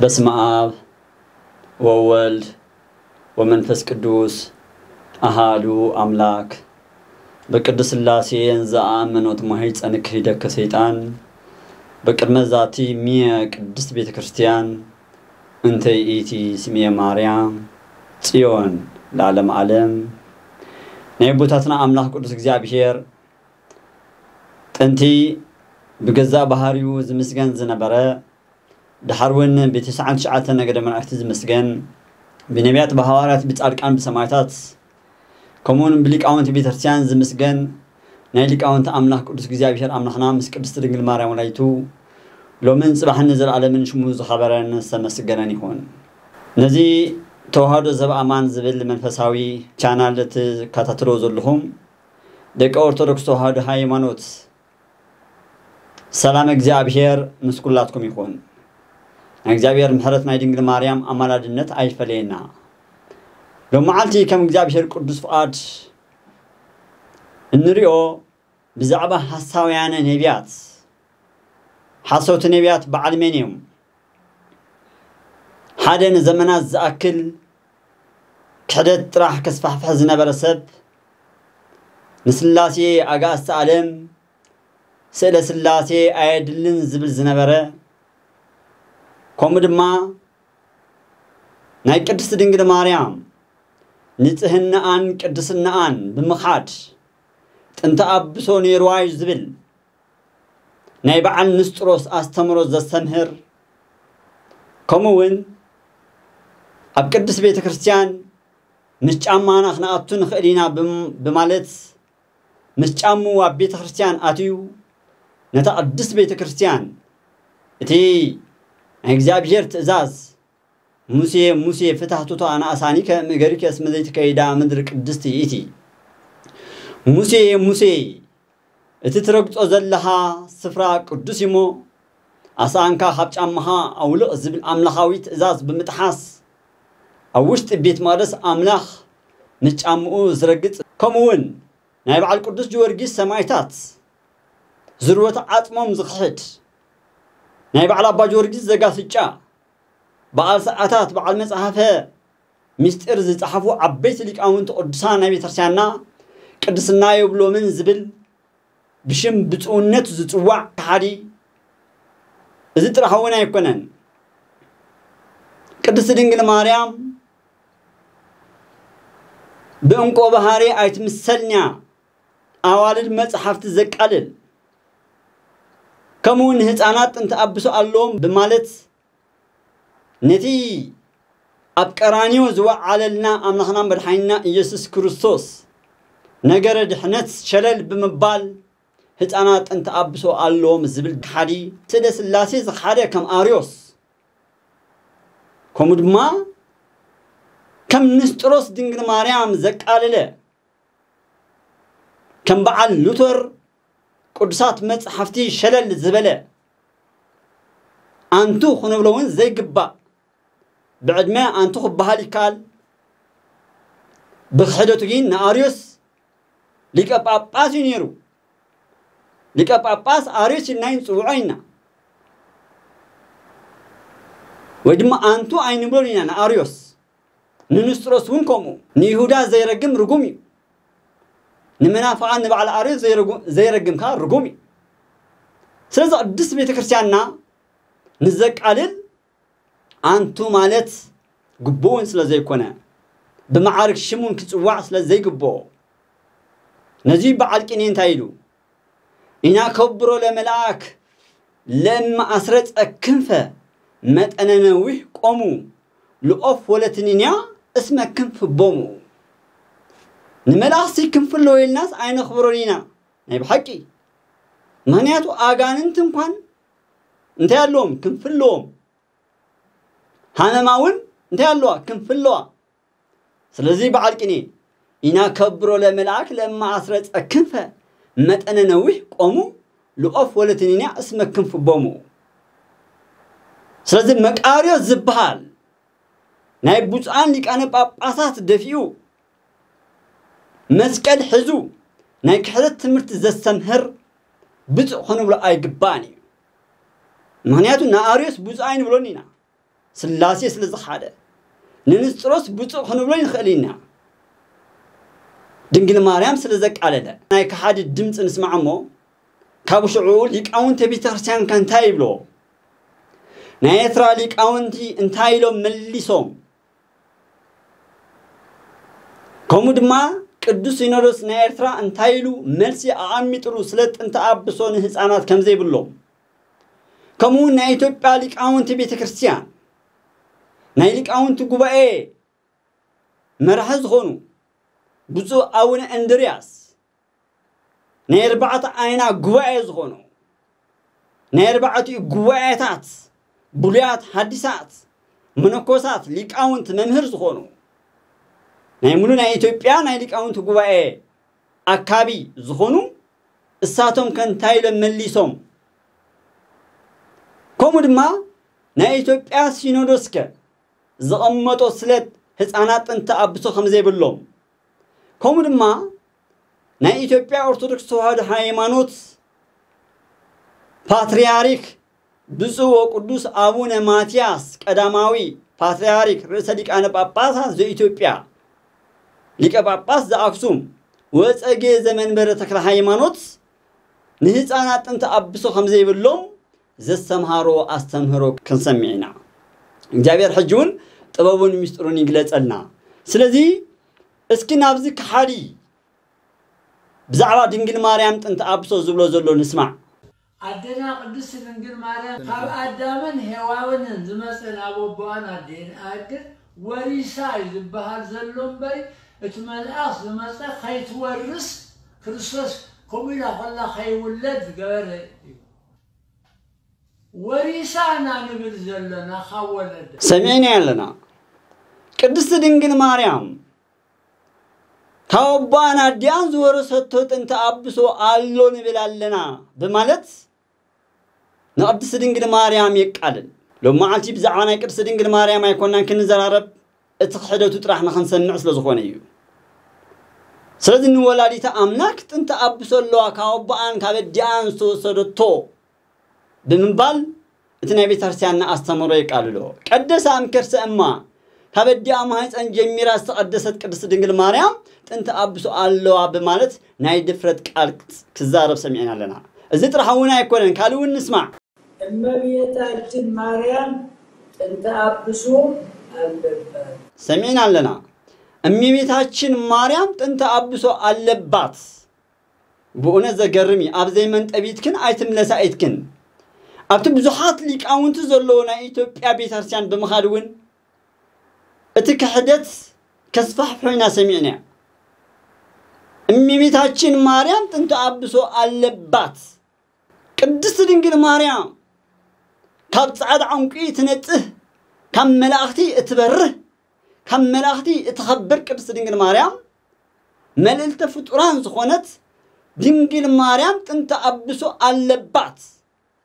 በስመ አብ ወወልድ ወመንፈስ ቅዱስ አሃዱ አምላክ። በቅድስት ሥላሴ እንዘ አመኖት ማህፀንኪ ሂደከ ሰይጣን። በቅድመ ዛቲ እምየ ቅድስት ቤተ ክርስቲያን እንተ ይእቲ ስምየ ማርያም ጽዮን ለዓለመ ዓለም። ናይ ኣቦታትና ኣምላኽ ቅዱስ እግዚኣብሔር ጥንቲ ብገዛእ ባህሪኡ ዝምስገን ዝነበረ፣ ድሓር እውን ብተስዓን ትሽዓተ ነገደ መላእክቲ ዝምስገን፣ ብነቢያት፣ ብሃዋርያት፣ ብጻድቃን፣ ብሰማዕታት፣ ከምኡውን ብሊቃውንቲ ቤተክርስትያን ዝምስገን፣ ናይ ሊቃውንቲ ኣምላኽ ቅዱስ እግዚኣብሔር ኣምላኽና ምስ ቅድስቲ ድንግል ማርያም ወላዲቱ ሎምን ጽባሕን ንዘለዓለምን ሽሙ ዝኸበረን ዝተመስገነን ይኹን። ነዚ ተዋህዶ ዘበኣማን ዝብል መንፈሳዊ ቻናል እትከታተልዎ ዘለኹም ደቂ ኦርቶዶክስ ተዋህዶ ሃይማኖት፣ ሰላም እግዚኣብሔር ምስ ኩላትኩም ይኹን። ናይ እግዚኣብሔር ምሕረት፣ ናይ ድንግል ማርያም ኣማላድነት ኣይፈለየና። ሎም መዓልቲ ከም እግዚኣብሔር ቅዱስ ፍቓድ እንሪኦ ብዛዕባ ሓሳውያነ ነቢያት፣ ሓሰውቲ ነቢያት በዓል መን እዮም? ሓደ ንዘመናት ዝኣክል ክሕደት ጥራሕ ከስፋሕፍሕ ዝነበረ ሰብ፣ ንስላሴ ኣጋእዝተ ዓለም፣ ስእለ ስላሴ ኣየድልን ዝብል ዝነበረ፣ ከምኡ ድማ ናይ ቅድስቲ ድንግል ማርያም ንጽህናኣን ቅድስናኣን ብምኻድ ጥንተ ኣብሶ ነይርዋ እዩ ዝብል ናይ በዓል ንስጥሮስ ኣስተምሮ ዘስተምህር፣ ከምኡ እውን ኣብ ቅድስት ቤተ ክርስቲያን ምስ ጫማና ክንኣቱ ንኽእል ኢና ብም-፣ ብማለት ምስ ጫምኡ ኣብ ቤተ ክርስቲያን ኣትዩ ነታ ቅድስት ቤተ ክርስቲያን እቲ ናይ እግዚኣብሔር ትእዛዝ፣ "ሙሴ፣ ሙሴ፣ ፍታህ ቱቶ ኣናእሳኒከ እምእገሪከ እስመ ዘይትከይዳ ምድር ቅድስት ይእቲ።" "ሙሴ፣ ሙሴ፣ እቲ ትረግጾ ዘለኻ ስፍራ ቅዱስ እዩሞ ኣስኣንካ ካብ ጫማኻ ኣውልቕ" ዝብል ኣምላኻዊ ትእዛዝ ብምጥሓስ ኣብ ውሽጢ ቤት መቕደስ ኣምላኽ ምስ ጫምኡ ዝረግጽ፣ ከምኡ እውን ናይ በዓል ቅዱስ ጊዮርጊስ ሰማዕታት ዝርወተ ዓጽሞም ዝኽሕድ፣ ናይ በዓል ኣባ ጊዮርጊስ ዘጋስጫ፣ በዓል ሰዓታት፣ በዓል መጽሓፈ ምስጢር ዝጸሓፉ ዓበይቲ ሊቃውንቲ ቅዱሳን ናይ ቤተክርስትያንና ቅድስና የብሎምን ዝብል ብሽም ብጽውነት ዝጽዋዕ ከሓዲ፣ እዚ ጥራሕ እውን ኣይኮነን። ቅድስቲ ድንግል ማርያም ብእንቆ ባህሪ ኣይትምሰልንያ፣ ኣዋልድ መጽሓፍቲ ዘቃልል፣ ከምኡ ንህፃናት ጥንቲ ኣብሶ ኣለዎም ብማለት ነቲ ኣብ ቀራንዮ ዝወዓለልና ኣምላኽና መድሓኒና ኢየሱስ ክርስቶስ ነገረ ድሕነት ሸለል ብምባል ህፃናት ጥንቲ ኣብሶ ኣለዎም ዝብል ከሓዲ፣ ስለ ስላሴ ዝኸሓደ ከም ኣርዮስ፣ ከምኡ ድማ ከም ንስጥሮስ ድንግል ማርያም ዘቃለለ፣ ከም በዓል ሉተር ቅዱሳት መጽሓፍቲ ሸለል ዝበለ፣ ኣንቱ ክንብሎ እውን ዘይግባእ፣ ብዕድመ ኣንቱ ክበሃል ይከኣል። ብክሕደቱ ግን ንኣርዮስ ሊቀ ጳጳስ እዩ ነይሩ። ሊቀ ጳጳስ ኣርዮስ ኢልና ንጽውዖ ኢና። ወይ ድማ ኣንቱ ኣይንብሎን ኢና ንኣርዮስ። ንንስጥሮስ እውን ከምኡ። ንይሁዳ ዘይረግም ርጉም እዩ። ንመናፍቓን ንበዓል ኣርዮስ ዘይረጉ-፣ ዘይረግም ከኣ ርጉም እዩ። ስለዚ ቅድስት ቤተ ክርስቲያንና ንዘቃልል ኣንቱ ማለት ግቡእውን ስለ ዘይኮነ፣ ብመዓርግ ሽም እውን ክጽዋዕ ስለ ዘይግብኦ፣ ነዚ በዓል ቅኔ እንታይ ኢሉ? "ኢና ከብሮ ለመልኣክ ለእመ ኣስረጸ ክንፈ መጠነ ነዊሕ ቆሙ ለኦፍ ወለትኒንያ እስመ ክንፍ ቦሙ።" ንመላእኽቲ ክንፊ ኣለዎ ኢልናስ ኣይነኽብሮን ኢና። ናይ ብሓቂ። ምኽንያቱ ኣጋንንቲ እንኳን እንታይ ኣለዎም? ክንፊ ኣለዎም። ሃመማ እውን እንታይ ኣለዋ? ክንፊ ኣለዋ። ስለዚ በዓል ቅኔ፣ "ኢና ከብሮ ለመልኣክ ለእመ ኣስረጸ ክንፈ መጠነ ነዊሕ ቆሙ ለኦፍ ወለትኒንያ እስመ ክንፍ ቦሙ።" ስለዚ መቃርዮስ ዝበሃል ናይ ብፁዓን ሊቃነ ጳጳሳት ደፊኡ፣ መስቀል ሒዙ ናይ ክሕደት ትምህርቲ ዘስተምህር ብፁዕ ክንብሎ ኣይግባእን እዩ። ምኽንያቱ ንኣርዮስ ብፁዕ ኣይንብሎን ኢና። ስላሴ ስለ ዝኸሓደ፣ ንንስጥሮስ ብፁዕ ክንብሎ ይንኽእል ኢና። ድንግል ማርያም ስለ ዘቃለለ፣ ናይ ከሓዲ ድምፂ ንስማዕ እሞ፣ ካብ ሽዑ ሊቃውንተ ቤተክርስትያን ከ እንታይ ይብሎ? ናይ ኤርትራ ሊቃውንቲ እንታይ ኢሎም መሊሶም? ከምኡ ድማ ቅዱስ ሲኖዶስ ናይ ኤርትራ እንታይ ኢሉ መልሲ ኣቐሚጥሉ ስለ ጥንተ ኣብሶ ንህፃናት ከም ዘይብሎም፣ ከምኡ እውን ናይ ኢትዮጵያ ሊቃውንቲ ቤተክርስትያን፣ ናይ ሊቃውንቲ ጉባኤ መራሒ ዝኾኑ ብፁዕ ኣቡነ እንድርያስ፣ ናይ ኣርባዕተ ኣይና ጉባኤ ዝኾኑ፣ ናይ ኣርባዕቲኡ ጉባኤታት ብሉያት ሓዲሳት መነኮሳት ሊቃውንት መምህር ዝኾኑ፣ ናይ ሙሉ ናይ ኢትዮጵያ ናይ ሊቃውንት ጉባኤ ኣካቢ ዝኾኑ፣ እሳቶም ከ እንታይ ኢሎም መሊሶም? ከምኡ ድማ ናይ ኢትዮጵያ ሲኖዶስ ከ ዘቐመጦ ስለት ህፃናት ጥንተ ኣብሶ ከም ዘይብሎም፣ ከምኡ ድማ ናይ ኢትዮጵያ ኦርቶዶክስ ተዋህዶ ሃይማኖት ፓትርያርክ ብፁዕ ወቅዱስ ኣቡነ ማትያስ ቀዳማዊ ፓትርያርክ ርእሰ ሊቃነ ጳጳሳት ዘኢትዮጵያ፣ ሊቀ ጳጳስ ዘኣክሱም ወፀጌ ዘመንበረ ተክለ ሃይማኖት ንህፃናት ጥንተ ኣብሶ ከም ዘይብሎም ዘስተምሃሮ ኣስተምህሮ ክንሰምዕ ኢና። እግዚኣብሔር ሕጂ እውን ጥበቡን ምስጢሩን ይግለጸልና። ስለዚ እስኪ ናብዚ ከሓዲ ብዛዕባ ድንግል ማርያም ጥንተ ኣብሶ ዝብሎ ዘሎ ንስማዕ። ኣደና ቅድስት ድንግል ማርያም ካብ ኣዳምን ሄዋንን ዝመጸ ናብ ኣቦኣን ኣዴን ኣድን ወሪሳ እዩ ዝበሃል ዘሎ እምበሪ፣ እቲ መልኣኽ ዝመጸ ከይትወርስ ክርስቶስ ከምኡ ኢላ ከላ ከይውለድ ዝገበረ እዩ። ወሪሳ ኢና ንብል ዘለና ካብ ወለደ። ሰሚዕና ኣለና። ቅድስቲ ድንግል ማርያም ካብ ኣቦኣን ኣዲኣን ዝወረሰቶ ጥንተ ኣብሶ ኣሎ ንብል ኣለና ብማለት ንቅድስቲ ድንግል ማርያም የቃልል። ሎም መዓልቲ ብዛዕባ ናይ ቅድስቲ ድንግል ማርያም ኣይኮናን ክንዘራረብ፣ እቲ ክሕደቱ ጥራሕ ንክንሰምዕ ስለ ዝኾነ እዩ። ስለዚ ንወላዲተ ኣምላክ ጥንተ ኣብሶ ኣለዋ ካብ ኣቦኣን ካብ ኣዲኣን ዝተወሰደቶ ብምባል እቲ ናይ ቤተክርስትያንና ኣስተምህሮ የቃልሎ። ቀደሳ እምከርሰ እማ፣ ካብ ኣዲኣ ማህፀን ጀሚራ ዝተቐደሰት ቅድስቲ ድንግል ማርያም ጥንተ ኣብሶ ኣለዋ ብማለት ናይ ድፍረት ቃል ክዛረብ ሰሚዕና ኣለና። እዚ ጥራሕ እውን ኣይኮነን፣ ካልእ እውን ንስማዕ። እመቤታችን ማርያም ጥንተ ኣብሶ ኣለባት። ሰሚዕና ኣለና። እመቤታችን ማርያም ጥንተ ኣብሶ ኣለባት። ብእውነት ዘገርም እዩ። ኣብ ዘይመንጠቢትክን ኣይትምለሳ ኢትክን። ኣብቲ ብዙሓት ሊቃውንቲ ዘለዎ ናይ ኢትዮጵያ ቤተክርስትያን ብምኻድ እውን እቲ ክሕደት ከስፋሕፍሖ ኢና ሰሚዕና። እመቤታችን ማርያም ጥንተ ኣብሶ ኣለባት። ቅድስቲ ድንግል ማርያም ካብ ጻዕዳ ዕንቁ ትነጽህ፣ ካብ መላእኽቲ እትበርህ፣ ካብ መላእኽቲ እትኸብር ቅድስቲ ድንግል ማርያም መልዕልተ ፍጡራን ዝኾነት ድንግል ማርያም ጥንተ ኣብሶ ኣለባት።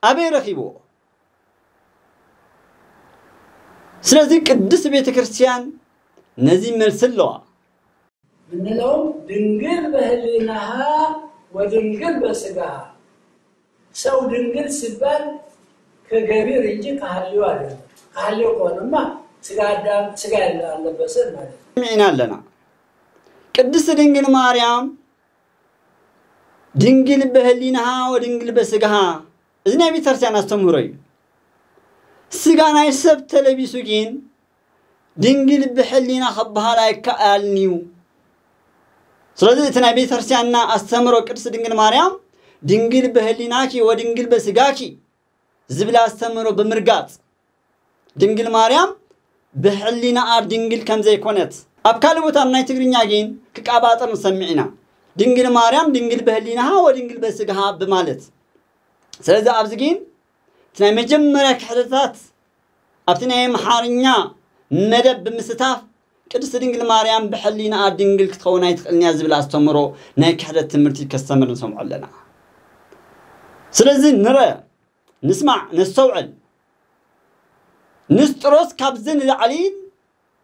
ኣበይ ረኺብዎ? ስለዚ ቅድስቲ ቤተ ክርስቲያን ነዚ መልሲ ኣለዋ። ምንለውም ድንግል በህሊናሃ ወድንግል በስጋሃ። ሰው ድንግል ሲባል ከገቢር እንጂ ከሃልዮ አይደለም። ከሃልዮ ከሆነማ ስጋ አዳም ስጋ ያለ አለበሰን ማለት ነው። ሰሚዕና ኣለና። ቅድስቲ ድንግል ማርያም ድንግል በህሊናሃ ወድንግል በስጋሃ፣ እዚ ናይ ቤተክርስትያን ኣስተምህሮ እዩ። ስጋ ናይ ሰብ ተለቢሱ ግን ድንግል ብሕሊና ክበሃል ኣይከኣልን እዩ። ስለዚ እቲ ናይ ቤተክርስትያንና ኣስተምህሮ ቅድስቲ ድንግል ማርያም ድንግል በህሊናኪ ወድንግል በስጋኪ ዝብል ኣስተምህሮ ብምርጋጽ ድንግል ማርያም ብሕሊናኣ ድንግል ከም ዘይኮነት ኣብ ካልእ ቦታ ናይ ትግርኛ ግን ክቃባጠር ንሰምዕ ኢና። ድንግል ማርያም ድንግል በህሊናሃ ወድንግል በስጋሃ ብማለት። ስለዚ ኣብዚ ግን እቲ ናይ መጀመርያ ክሕደታት ኣብቲ ናይ ኣምሓርኛ መደብ ብምስታፍ ቅድስቲ ድንግል ማርያም ብሕሊናኣ ድንግል ክትኸውን ኣይትኽእልን እያ ዝብል ኣስተምህሮ ናይ ክሕደት ትምህርቲ ከስተምር ንሰምዖ ኣለና። ስለዚ ንረ፣ ንስማዕ፣ ነስተውዕል። ንስጥሮስ ካብዚ ንላዕሊ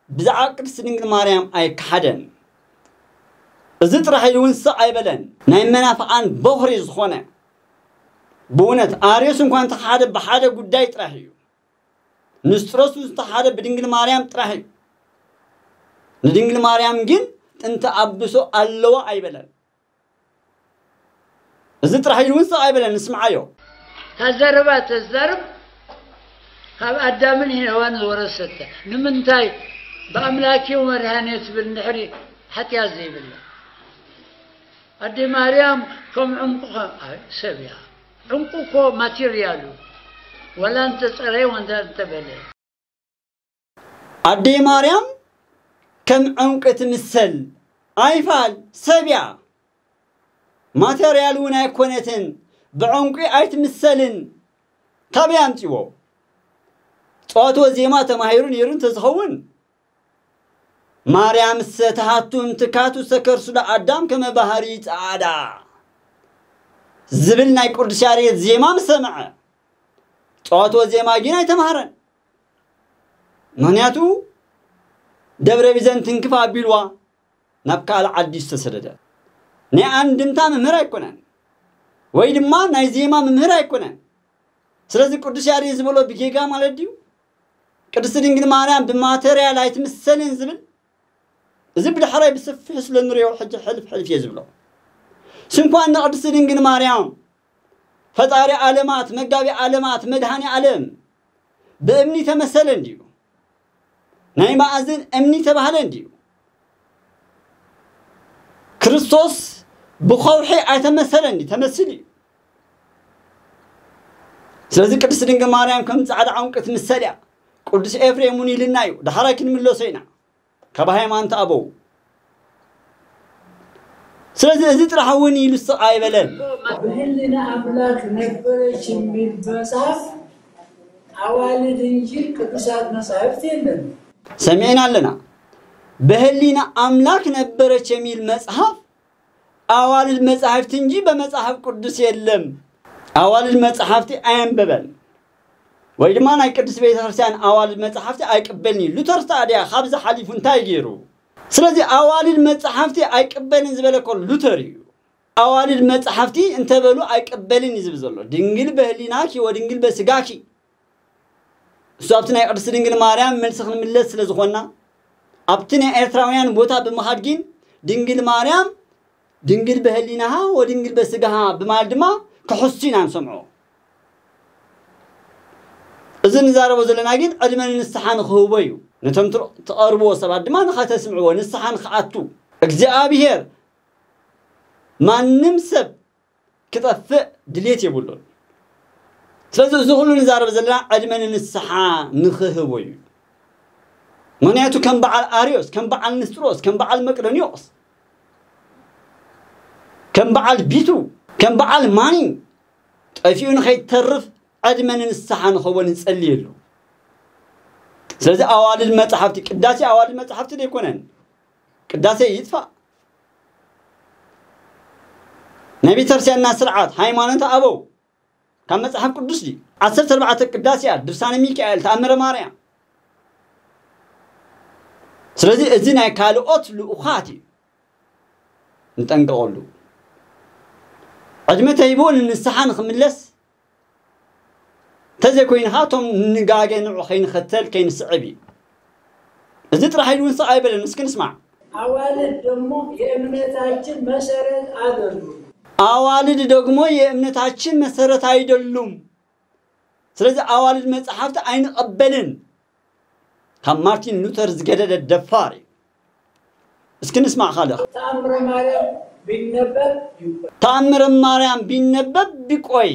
ብዛዕባ ቅድስቲ ድንግል ማርያም ኣይከሓደን። እዚ ጥራሕ ኢሉ እውን ስቕ ኣይበለን። ናይ መናፍቓን በኹሪ ዝኾነ ብእውነት ኣርዮስ እንኳ እንተኸሓደ ብሓደ ጉዳይ ጥራሕ እዩ። ንስጥሮስ ዝተሓደ ብድንግል ማርያም ጥራሕ እዩ። ንድንግል ማርያም ግን ጥንቲ ኣብሶ ኣለዋ ኣይበለን። እዚ ጥራሕ ኢሉ እውን ስቕ ኣይበለን፣ ንስምዓዮ። ታዘረባ ተዛርብ ካብ ኣዳምን ሄዋን ዝወረሰተ ንምንታይ ብኣምላኪ መድሃኔ ትብል እንድሕሪ ሓጢኣት ዘይብላ ኣደ ማርያም ከም ዕንቁ ሰብ እያ። ዕንቁ እኮ ማቴርያሉ ወላ እንተፀረየ ወንዳ እንተበለ ኣደይ ማርያም ከም ዕንቂ ትምሰል ኣይፋል ሰብ እያ። ማተርያል እውን ኣይኮነትን፣ ብዕንቂ ኣይትምሰልን። ካበይ ኣምፂዎ? ፀዋትወ ዜማ ተማሂሩ ነይሩ እንተዝኸውን ማርያም ሰተሃቱ እምትካቱ ሰከርሱ ለኣዳም ከመ ባህሪ ፀዓዳ ዝብል ናይ ቅዱስ ያሬድ ዜማ ምስ ሰምዐ ፀዋትወ ዜማ ግን ኣይተማህረን። ምኽንያቱ ደብረ ቢዘንትን ክፍ ኣቢልዋ ናብ ካልእ ዓዲ ዝተሰደደ ናይ ኣንድምታ መምህር ኣይኮነን፣ ወይ ድማ ናይ ዜማ መምህር ኣይኮነን። ስለዚ ቅዱስ ያሬድ ዝበሎ ብጌጋ ማለት ድዩ? ቅድስቲ ድንግል ማርያም ብማተርያል ኣይትምሰልን ዝብል እዚ ብድሕራይ ብሰፊሑ ስለ ንሪኦ ሕጂ ሕልፍ ሕልፍ እየ ዝብሎ። ስንኳን ንቅድስቲ ድንግል ማርያም ፈጣሪ ዓለማት መጋቢ ዓለማት መድሃኒ ዓለም ብእምኒ ተመሰለ እንድዩ። ናይ መኣዝን እምኒ ተባህለ እንድዩ። ክርስቶስ ብኸውሒ ኣይተመሰለ እንድዩ፣ ተመሲሉ እዩ። ስለዚ ቅድስቲ ድንግል ማርያም ከም ጻዕዳ ዕንቁ ትምሰል እያ። ቅዱስ ኤፍሬም እውን ኢልና እዩ። ዳሕራይ ክንምለሶ ኢና ካብ ሃይማኖት ኣበው። ስለዚ እዚ ጥራሕ እውን ኢሉ ስቕ ኣይበለን። በህሊና ኣምላክ ነበረች የሚል መጽሐፍ አዋልድ እንጂ ቅዱሳት መጻሕፍት የለም። ሰሚዕና ኣለና። በህሊና ኣምላክ ነበረች የሚል መጽሐፍ አዋልድ መጻሕፍት እንጂ በመጽሐፍ ቅዱስ የለም። ኣዋልድ መጻሕፍቲ ኣየንበበን ወይ ድማ ናይ ቅድስት ቤተክርስትያን ኣዋልድ መጻሕፍቲ ኣይቅበልን እዩ። ሉተር ታዲያ ካብዚ ሓሊፉ እንታይ ገይሩ? ስለዚ ኣዋልድ መጻሕፍቲ ኣይቅበልን ዝበለ እኮ ሉተር እዩ። ኣዋልድ መጻሕፍቲ እንተበሉ ኣይቅበልን እዩ ዝብል ዘሎ። ድንግል በህሊናኪ ወድንግል በስጋኪ። እሱ ኣብቲ ናይ ቅድስቲ ድንግል ማርያም መልሲ ክንምለስ ስለ ዝኾንና ኣብቲ ናይ ኤርትራውያን ቦታ ብምኻድ ግን ድንግል ማርያም ድንግል በህሊናሃ ወድንግል በስጋሃ ብማለት ድማ ክሕሱ ኢና ንሰምዖ። እዚ ንዛረቦ ዘለና ግን ዕድመ ንንስሓ ንክህቦ እዩ። ነቶም ትር- ትቐርብዎ ሰባት ድማ ንኸተስምዕዎ ንስሓ ንክኣቱ እግዚኣብሔር ማንም ሰብ ክጠፍእ ድሌት የብሉን። ስለዚ እዚ ኩሉ ንዛረብ ዘለና ዕድመ ንንስሓ ንክህቦ እዩ። ምክንያቱ ከም በዓል ኣርዮስ፣ ከም በዓል ንስጥሮስ፣ ከም በዓል መቅደኒዎስ፣ ከም በዓል ቢቱ፣ ከም በዓል ማኒ ጠፊኡ ንኸይተርፍ ዕድመ ንንስሓ ንኸቦ ንጸልየሉ። ስለዚ ኣዋልድ መጻሕፍቲ ቅዳሴ ኣዋልድ መጻሕፍቲ ዘይኮነን ቅዳሴ ይጥፋእ። ናይ ቤተክርስትያንና ስርዓት ሃይማኖት ኣበው ካብ መጽሓፍ ቅዱስ ድዩ? ዓሰርተ ኣርባዕተ ቅዳሴያት፣ ድርሳነ ሚካኤል፣ ተኣምረ ማርያም። ስለዚ እዚ ናይ ካልኦት ልኡኻት እዩ፣ ንጠንቀቐሉ። ዕድመ ተሂቡ ንንስሓ ንኽምለስ እንተዘይኮይኑ ኸዓ እቶም ንጋገ ንዑ ከይንኸተል ከይንስዕብ እዩ። እዚ ጥራሕ ኢሉ እውን ስቕ ኣይበለን። እስኪ ንስማዕ። አዋልድ ደግሞ የእምነታችን መሰረት አይደሉም። አዋልድ ደግሞ የእምነታችን መሰረት አይደሉም። ስለዚ ኣዋልድ መጽሓፍቲ ኣይንቐበልን። ካብ ማርቲን ሉተር ዝገደደ ደፋር እዩ። እስኪ ንስማዕ ካልእ። ተአምረ ማርያም ቢነበብ ይውቀስ። ተኣምረ ማርያም ቢነበብ ቢቆይ።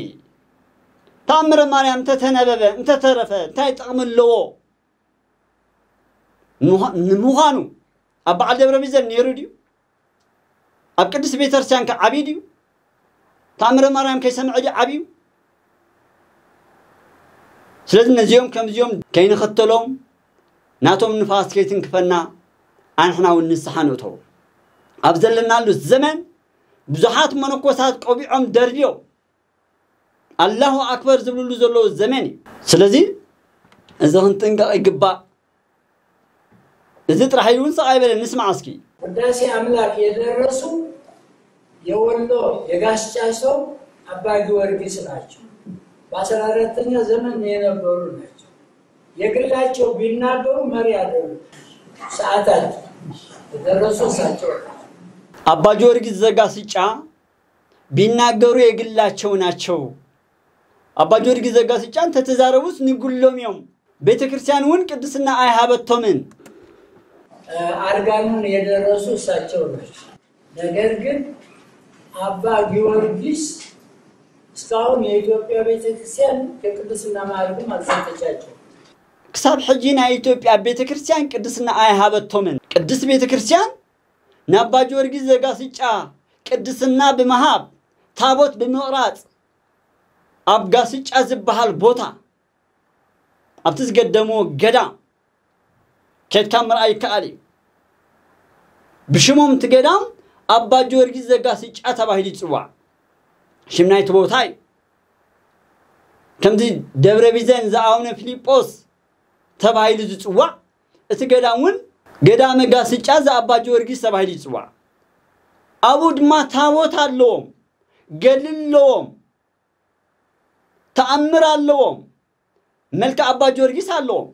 ተኣምረ ማርያም እንተተነበበ እንተተረፈ እንታይ ጥቕሚ ኣለዎ? ንምዃ- ንምዃኑ ኣብ በዓል ደብረ ቢዘን ነይሩ ድዩ? ኣብ ቅድስት ቤተክርስትያን ከ ዓብዩ ድዩ? ተኣምረ ማርያም ከይሰምዐ ድዩ ዓብዩ? ስለዚ ነዚኦም ከምዚኦም ከይንኽተሎም ናቶም ንፋስ ከይትንክፈና ኣንሕና እውን ንስሓ ንእተው። ኣብ ዘለናሉ ዘመን ብዙሓት መነኮሳት ቆቢዖም ደርብዮም ኣላሁ ኣክበር ዝብልሉ ዘለዉ ዘመን እዩ። ስለዚ እዚ ክንጥንቀቕ ይግባእ። እዚ ጥራሕ ኢሉ እውን ስቕ ኣይበለን። ንስማዕ እስኪ። ውዳሴ አምላክ የደረሱ የወሎ የጋስጫ ሰው አባ ጊዮርጊስ ናቸው። በአስራ አራተኛ ዘመን የነበሩ ናቸው። የግላቸው ቢናገሩ መሪ ያደሩ ሰዓታት የደረሱ እሳቸው። አባ ጊዮርጊስ ዘጋስጫ ቢናገሩ የግላቸው ናቸው። አባ ጊዮርጊስ ዘጋስጫ እንተተዛረቡስ ንጉሎም እዮም። ቤተ ክርስቲያን እውን ቅድስና ኣይሃበቶምን። አርጋኑን የደረሱ እሳቸው ናቸው። ነገር ግን አባ ጊዮርጊስ እስካሁን የኢትዮጵያ ቤተክርስቲያን ከቅድስና ማዕረግም አልሰጠቻቸው። ክሳብ ሕጂ ናይ ኢትዮጵያ ቤተ ክርስቲያን ቅድስና ኣይሃበቶምን። ቅድስት ቤተ ክርስቲያን ንኣባ ጊዮርጊስ ዘጋስጫ ቅድስና ብምሃብ፣ ታቦት ብምቕራጽ፣ ኣብ ጋስጫ ዝበሃል ቦታ ኣብቲ ዝገደሞ ገዳም ኬድካ ምርኣይ ይከኣል እዩ። ብሽሞም እቲ ገዳም ኣባ ጊዮርጊስ ዘጋስጫ ተባሂሉ ይፅዋዕ። ሽም ናይቲ ቦታ እዩ። ከምዚ ደብረ ቢዘን ዘኣቡነ ፊልጶስ ተባሂሉ ዝፅዋዕ፣ እቲ ገዳም እውን ገዳመ ጋስጫ ዘኣባ ጊዮርጊስ ተባሂሉ ይፅዋዕ። ኣብኡ ድማ ታቦት ኣለዎም፣ ገድሊ ኣለዎም፣ ተኣምር ኣለዎም፣ መልክዕ ኣባ ጊዮርጊስ ኣለዎም።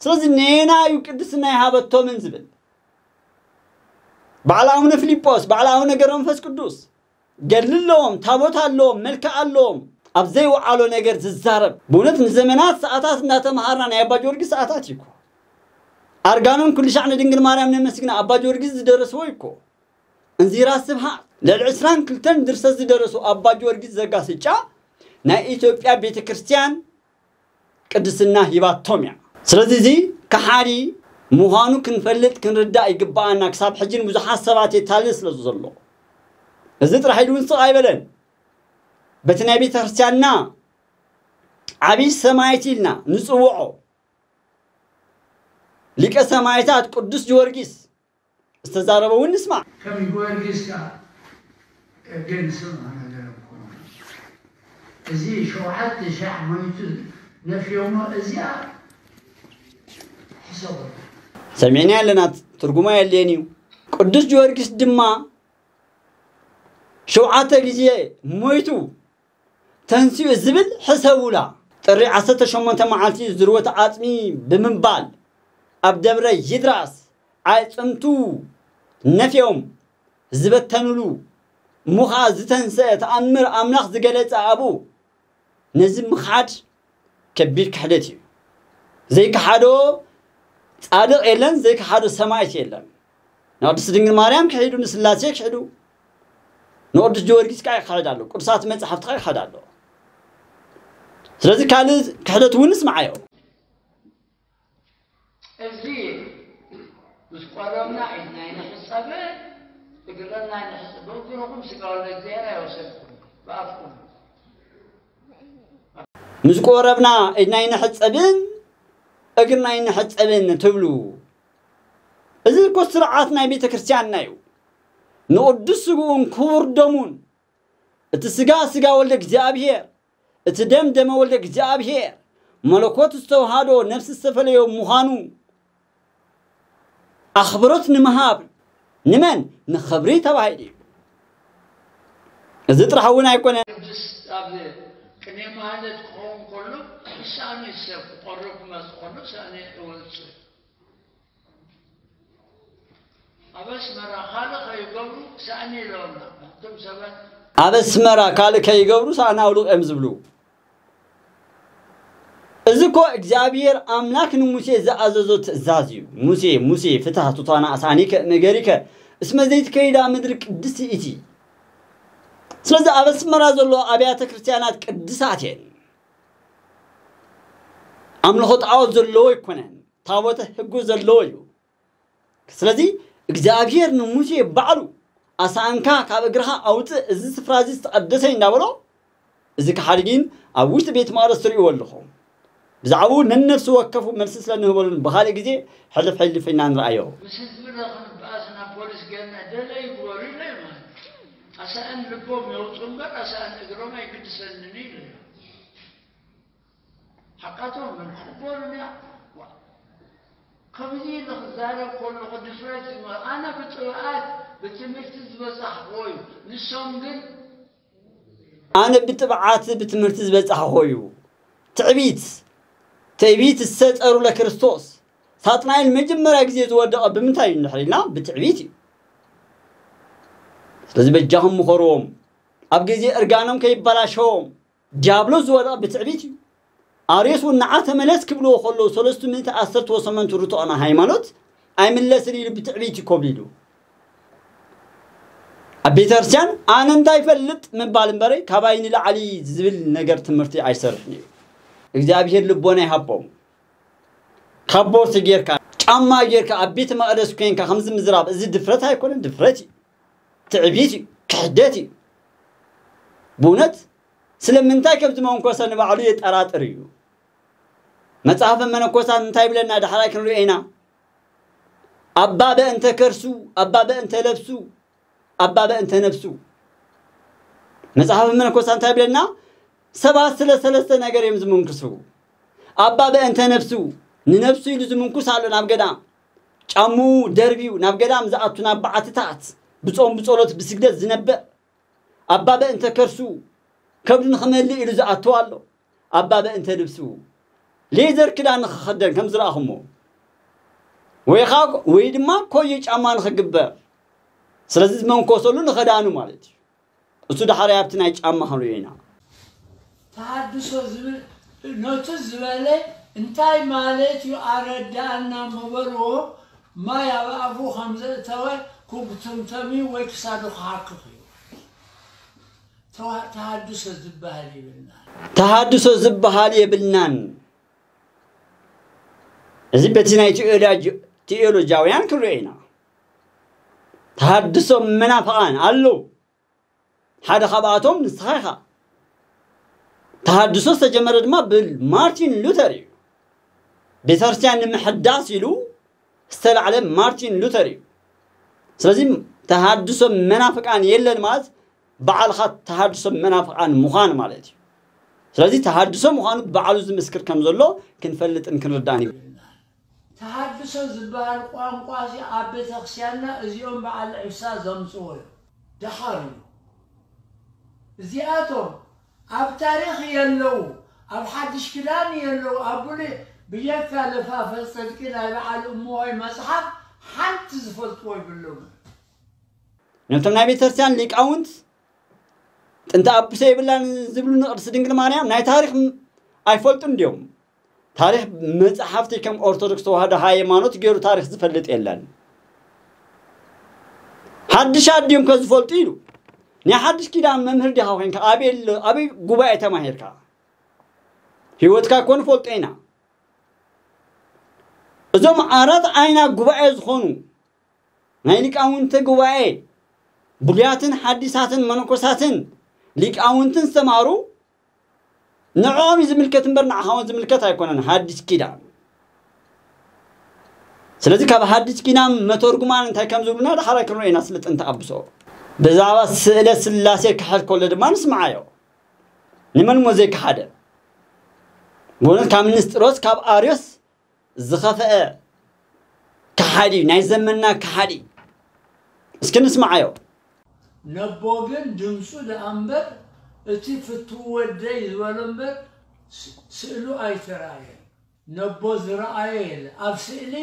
ስለዚ ነየና እዩ ቅድስና ይሃበቶምን ዝብል? በዓል ኣቡነ ፊልጶስ፣ በዓል ኣቡነ ገብረ መንፈስ ቅዱስ ገድሊ ኣለዎም፣ ታቦት ኣለዎም፣ መልክዕ ኣለዎም፣ ኣብ ዘይወዓሎ ነገር ዝዛረብ፣ ብእውነት ንዘመናት ሰዓታት እናተምሃርና ናይ ኣባ ጊዮርጊስ ሰዓታት እዩ እኮ። ኣርጋኖን ኩሉ ሻዕ ንድንግል ማርያም ነመስግና ኣባ ጊዮርጊስ ዝደረስዎ እዩ እኮ። እንዚራ ስብሃት ልዕሊ ዕስራን ክልተን ድርሰት ዝደረሱ ኣባ ጊዮርጊስ ዘጋስጫ ናይ ኢትዮጵያ ቤተ ክርስቲያን ቅድስና ሂባቶም እያ። ስለዚ እዚ ከሓዲ ምዃኑ ክንፈልጥ ክንርዳእ ይግባኣና። ክሳብ ሕጂ ንብዙሓት ሰባት የታልል ስለ ዘሎ፣ እዚ ጥራሕ ኢሉ እውን ስቕ ኣይበለን። በቲ ናይ ቤተ ክርስቲያንና ዓብዪ ሰማዕት ኢልና ንፅውዖ ሊቀ ሰማዕታት ቅዱስ ጊዮርጊስ ዝተዛረበ እውን ንስማዕ። ከም ጊዮርጊስ ከኣ ግን ስምዑ ነገር እኮ እዚ ሸውዓተ ሻዕ ሞይቱ ነፍዮሞ እዚኣ ሕሰቡ። ሰሚዕና ኣለና፣ ትርጉማ የድልየን እዩ። ቅዱስ ጊዮርጊስ ድማ ሸውዓተ ግዜ ሞይቱ ተንሲኡ ዝብል ሕሰቡላ። ጥሪ ዓሰርተ ሸሞንተ መዓልቲ ዝርወት ዓጽሚ ብምባል ኣብ ደብረ ይድራስ ኣዕጽምቱ ነፍዮም ዝበተኑሉ፣ እሞ ኸዓ ዝተንሰአ ተኣምር ኣምላኽ ዝገለጸ ኣብኡ ነዚ ምኽሓድ ከቢድ ክሕደት እዩ። ዘይከሓዶ ጻድቕ የለን፣ ዘይከሓዶ ሰማዕት የለን። ንቅድስት ድንግል ማርያም ክሒዱ፣ ንስላሴ ክሒዱ፣ ንቅዱስ ጊዮርጊስ ከዓ ይክሕድ ኣሎ፣ ቅዱሳት መጻሕፍቲ ከዓ ይክሕድ ኣሎ። ስለዚ ካልእ ክሕደት እውን ንስምዓዮ። እዚ ምስ ቆረብና ኢድና ኣይንሕጸብን እግርና ኣይንሕጸብን። በእግርኹም ስጋ ወልደ እግዚኣብሔር ኣይወሰድኩም ብኣፍኩም። ምስ ቆረብና ኢድና ኣይንሕጸብን እግርና ኣይንሕጸብን ትብሉ። እዚ እኮ ስርዓት ናይ ቤተ ክርስቲያንና እዩ። ንቅዱስ ስግኡን ክቡር ደሙን፣ እቲ ስጋ ስጋ ወልደ እግዚኣብሔር፣ እቲ ደም ደመ ወልደ እግዚኣብሔር፣ መለኮት ዝተዋሃዶ ነፍሲ ዝተፈለዮ ምዃኑ ኣኽብሮት ንምሃብ። ንመን? ንኽብሪ ተባሂሉ እዩ። እዚ ጥራሕ እውን ኣይኮነን። ቅዱስ ኣብ ቅኔ ማህሌት ክኸውን ከሎ ሳእኒ ሰብ ክቐርብ ክመጽእ ከሎ ሳእኒ እወጽእ። ኣብ ኣስመራ ካልእ ከይገብሩ ሳእኒ ኢሎምና እቶም ሰባት። ኣብ ኣስመራ ካልእ ከይገብሩ ሳእኒ ኣውልቕ እዮም ዝብሉ። እዚ እኮ እግዚኣብሔር ኣምላክ ንሙሴ ዝኣዘዞ ትእዛዝ እዩ። ሙሴ፣ ሙሴ፣ ፍትህ ቱታና ኣሳኒከ እምእገሪከ እስመ ዘይትከይዳ ምድሪ ቅድስቲ እቲ። ስለዚ ኣብ ኣስመራ ዘሎ ኣብያተ ክርስቲያናት ቅድሳት እየን። ኣምልኾ ጣዖት ዘለዎ ኣይኮነን። ታቦተ ሕጉ ዘለዎ እዩ። ስለዚ እግዚኣብሔር ንሙሴ ባዕሉ ኣሳእንካ ካብ እግርኻ ኣውፅእ፣ እዚ ስፍራ እዚ ዝተቐደሰ እዩ እንዳበሎ፣ እዚ ከሓዲ ግን ኣብ ውሽጢ ቤት መቕደስ ትርእይዎ ኣለኹም። ብዛዕባኡ ነነፍሲ ወከፉ መልሲ ስለ ንህበሉን ብኻልእ ግዜ ሕልፍ ሕልፍ ኢና ንርኣዮ። ምስ ህዝቢ ረኽንበኣስ ናብ ፖሊስ ጌርና ደለ ይግበሩ ኢለ ማለት ኣሳእን ልቦም የውፁ እምበር ኣሳእን እግሮም ኣይግድሰንን ኢለ ሓቃቶም ግን ክቕበሉን እያ። ከምዚ ኢሉ ክዛረብ ከሎ ቅዱስ ራይት ኣነ ብጥብዓት ብትምህርቲ ዝበፃሕክዎ እዩ። ንሶም ግን ኣነ ብጥብዓት ብትምህርቲ ዝበፃሕክዎ እዩ። ትዕቢት ትዕቢት እሰ ጸሩ ለክርስቶስ። ሳጥናኤል መጀመርያ ግዜ ዝወደቐ ብምንታይ እዩ እንድሕር ኢልና፣ ብትዕቢት እዩ። ስለዚ በጃኹም ምኸርዎም። ኣብ ግዜ እርጋኖም ከይበላሸዎም። ዲያብሎስ ዝወደቐ ብትዕቢት እዩ። ኣርዮስ እውን ንዓ ተመለስ ክብልዎ ከለዉ፣ ሰለስቱ ምእቲ ዓሰርተ ወሰመንቱ ርትዖና ሃይማኖት ኣይምለስን ኢሉ ብትዕቢት እዩ ኮብሊሉ። ኣብ ቤተክርስትያን ኣነ እንታይ ይፈልጥ ምባል እምበረ፣ ካባይ ንላዕሊ ዝብል ነገር ትምህርቲ ኣይሰርሕን እዩ። እግዚኣብሔር ልቦና ይሃቦም። ካቦርት ጌርካ፣ ጫማ ጌርካ፣ ኣብ ቤተ መቕደስ ኮንካ ከምዚ ምዝራብ፣ እዚ ድፍረት ኣይኮነን፣ ድፍረት እዩ። ትዕቢት እዩ፣ ክሕደት እዩ። ብእውነት ስለምንታይ ከምዚ መንኮሰ ንባዕሉ የጠራጥር እዩ። መጽሓፈ መነኮሳት እንታይ ይብለና? ዳሕራይ ክንሪኦ ኢና። ኣባ በእንተ ከርሱ፣ ኣባ በእንተ ለብሱ፣ ኣባ በእንተ ነፍሱ። መጽሓፈ መነኮሳት እንታይ ይብለና? ሰባት ስለ ሰለስተ ነገር እዮም ዝምንክሱ። ኣባ በእንተ ነፍሱ፣ ንነፍሱ ኢሉ ዝምንኩስ ኣሎ ናብ ገዳም። ጫምኡ ደርብዩ ናብ ገዳም ዝኣቱ፣ ናብ በዓትታት ብጾም ብጸሎት ብስግደት ዝነብዕ። ኣባ በእንተ ከርሱ፣ ከብዱ ንኽመልእ ኢሉ ዝኣቱ ኣሎ። ኣባ በእንተ ልብሱ፣ ሌዘር ክዳን ንኽኸደን ከም ዝረኣኹሞ፣ ወይ ኸዓ ወይ ድማ ኮዮ ጫማ ንኽግበር። ስለዚ ዝመንኮሰሉ ንኸዳኑ ማለት እዩ። እሱ ዳሕራይ ኣብቲ ናይ ጫማ ክንሪኦ ኢና። ተሃድሶ ዝብል ነቱ ዝበለ እንታይ ማለት እዩ ኣረዳእና ምበልዎ። ማይ ኣብ ኣፉ ከም ዘእተወ ክጉተምተም እዩ ወይ ክሳዱ ክሓክኽ እዩ። ተዋ- ተሃድሶ ዝበሃል ይብልና። ተሃድሶ ዝበሃል የብልናን። እዚ በቲ ናይ ቴዎሎጂ- ቴዎሎጂያውያን ክንሪኦ ኢና። ተሃድሶ መናፍቓን ኣለዉ። ሓደ ካብኣቶም ንስኻ ኢኻ። ተሃድሶ ዝተጀመረ ድማ ብማርቲን ሉተር እዩ። ቤተክርስትያን ንምሕዳስ ኢሉ ዝተላዕለ ማርቲን ሉተር እዩ። ስለዚ ተሃድሶ መናፍቃን የለን ማለት ባዕልኻ ተሃድሶ መናፍቃን ምዃን ማለት እዩ። ስለዚ ተሃድሶ ምዃኑ ባዕሉ ዝምስክር ከም ዘሎ ክንፈልጥን ክንርዳእን ይብል። ተሃድሶ ዝበሃል ቋንቋ እዚ ኣብ ቤተክርስትያንና እዚኦም በዓል ዒሳ ዘምፅዎ እዩ። ደሓር እዩ። እዚኣቶም ኣብ ታሪኽ የለዉ፣ ኣብ ሓድሽ ክዳን የለዉ፣ ኣብ ብሉይ ብጀካ ለፋፈ ፅድቂ ናይ በዓል እምሆይ መፅሓፍ ሓንቲ ዝፈልጥዎ ይብሉም። ነቶም ናይ ቤተክርስትያን ሊቃውንት ጥንተ ኣቡሰ የብላን ዝብሉ ንቅድስት ድንግል ማርያም ናይ ታሪኽ ም- ኣይፈልጡን እንዲዮም። ታሪኽ መጽሓፍቲ ከም ኦርቶዶክስ ተዋህዶ ሃይማኖት ገይሩ ታሪኽ ዝፈልጥ የለን። ሓድሽ ኣዲዮም ከዝፈልጡ ኢሉ ናይ ሓድሽ ኪዳን መምህር ዲኻ ኮንካ ኣበይ ኣሎ- ኣበይ ጉባኤ ተማሂርካ? ህይወትካ እኮ ንፈልጦ ኢና። እዞም ኣራት ዓይና ጉባኤ ዝኾኑ ናይ ሊቃውንቲ ጉባኤ ብሉያትን ሓዲሳትን መነኮሳትን ሊቃውንትን ዝተማሩ ንዕኦም እዩ ዝምልከት እምበር ንዓኻ እውን ዝምልከት ኣይኮነን ሓዲስ ኪዳን። ስለዚ ካብ ሓዲስ ኪዳን መተርጉማን እንታይ ከም ዝብሉና ዳሕራይ ክንሪኦ ኢና ስለ ጥንቲ ኣብሶ። ብዛዕባ ስእለ ስላሴ ክሕድ ከሎ ድማ ንስምዓዮ። ንመን እሞ ዘይከሓደ? ብእውነት ካብ ንስጥሮስ ካብ ኣርዮስ ዝኸፍአ ከሓዲ ናይ ዘመንና ከሓዲ። እስኪ ንስምዓዮ። ነቦ ግን ድምፁ ደኣ እምበር እቲ ፍትው ወደይ ዝበሎ እምበር ስ- ስእሉ ኣይተራእየን። ነቦ ዝረኣየ የለ። ኣብ ስእሊ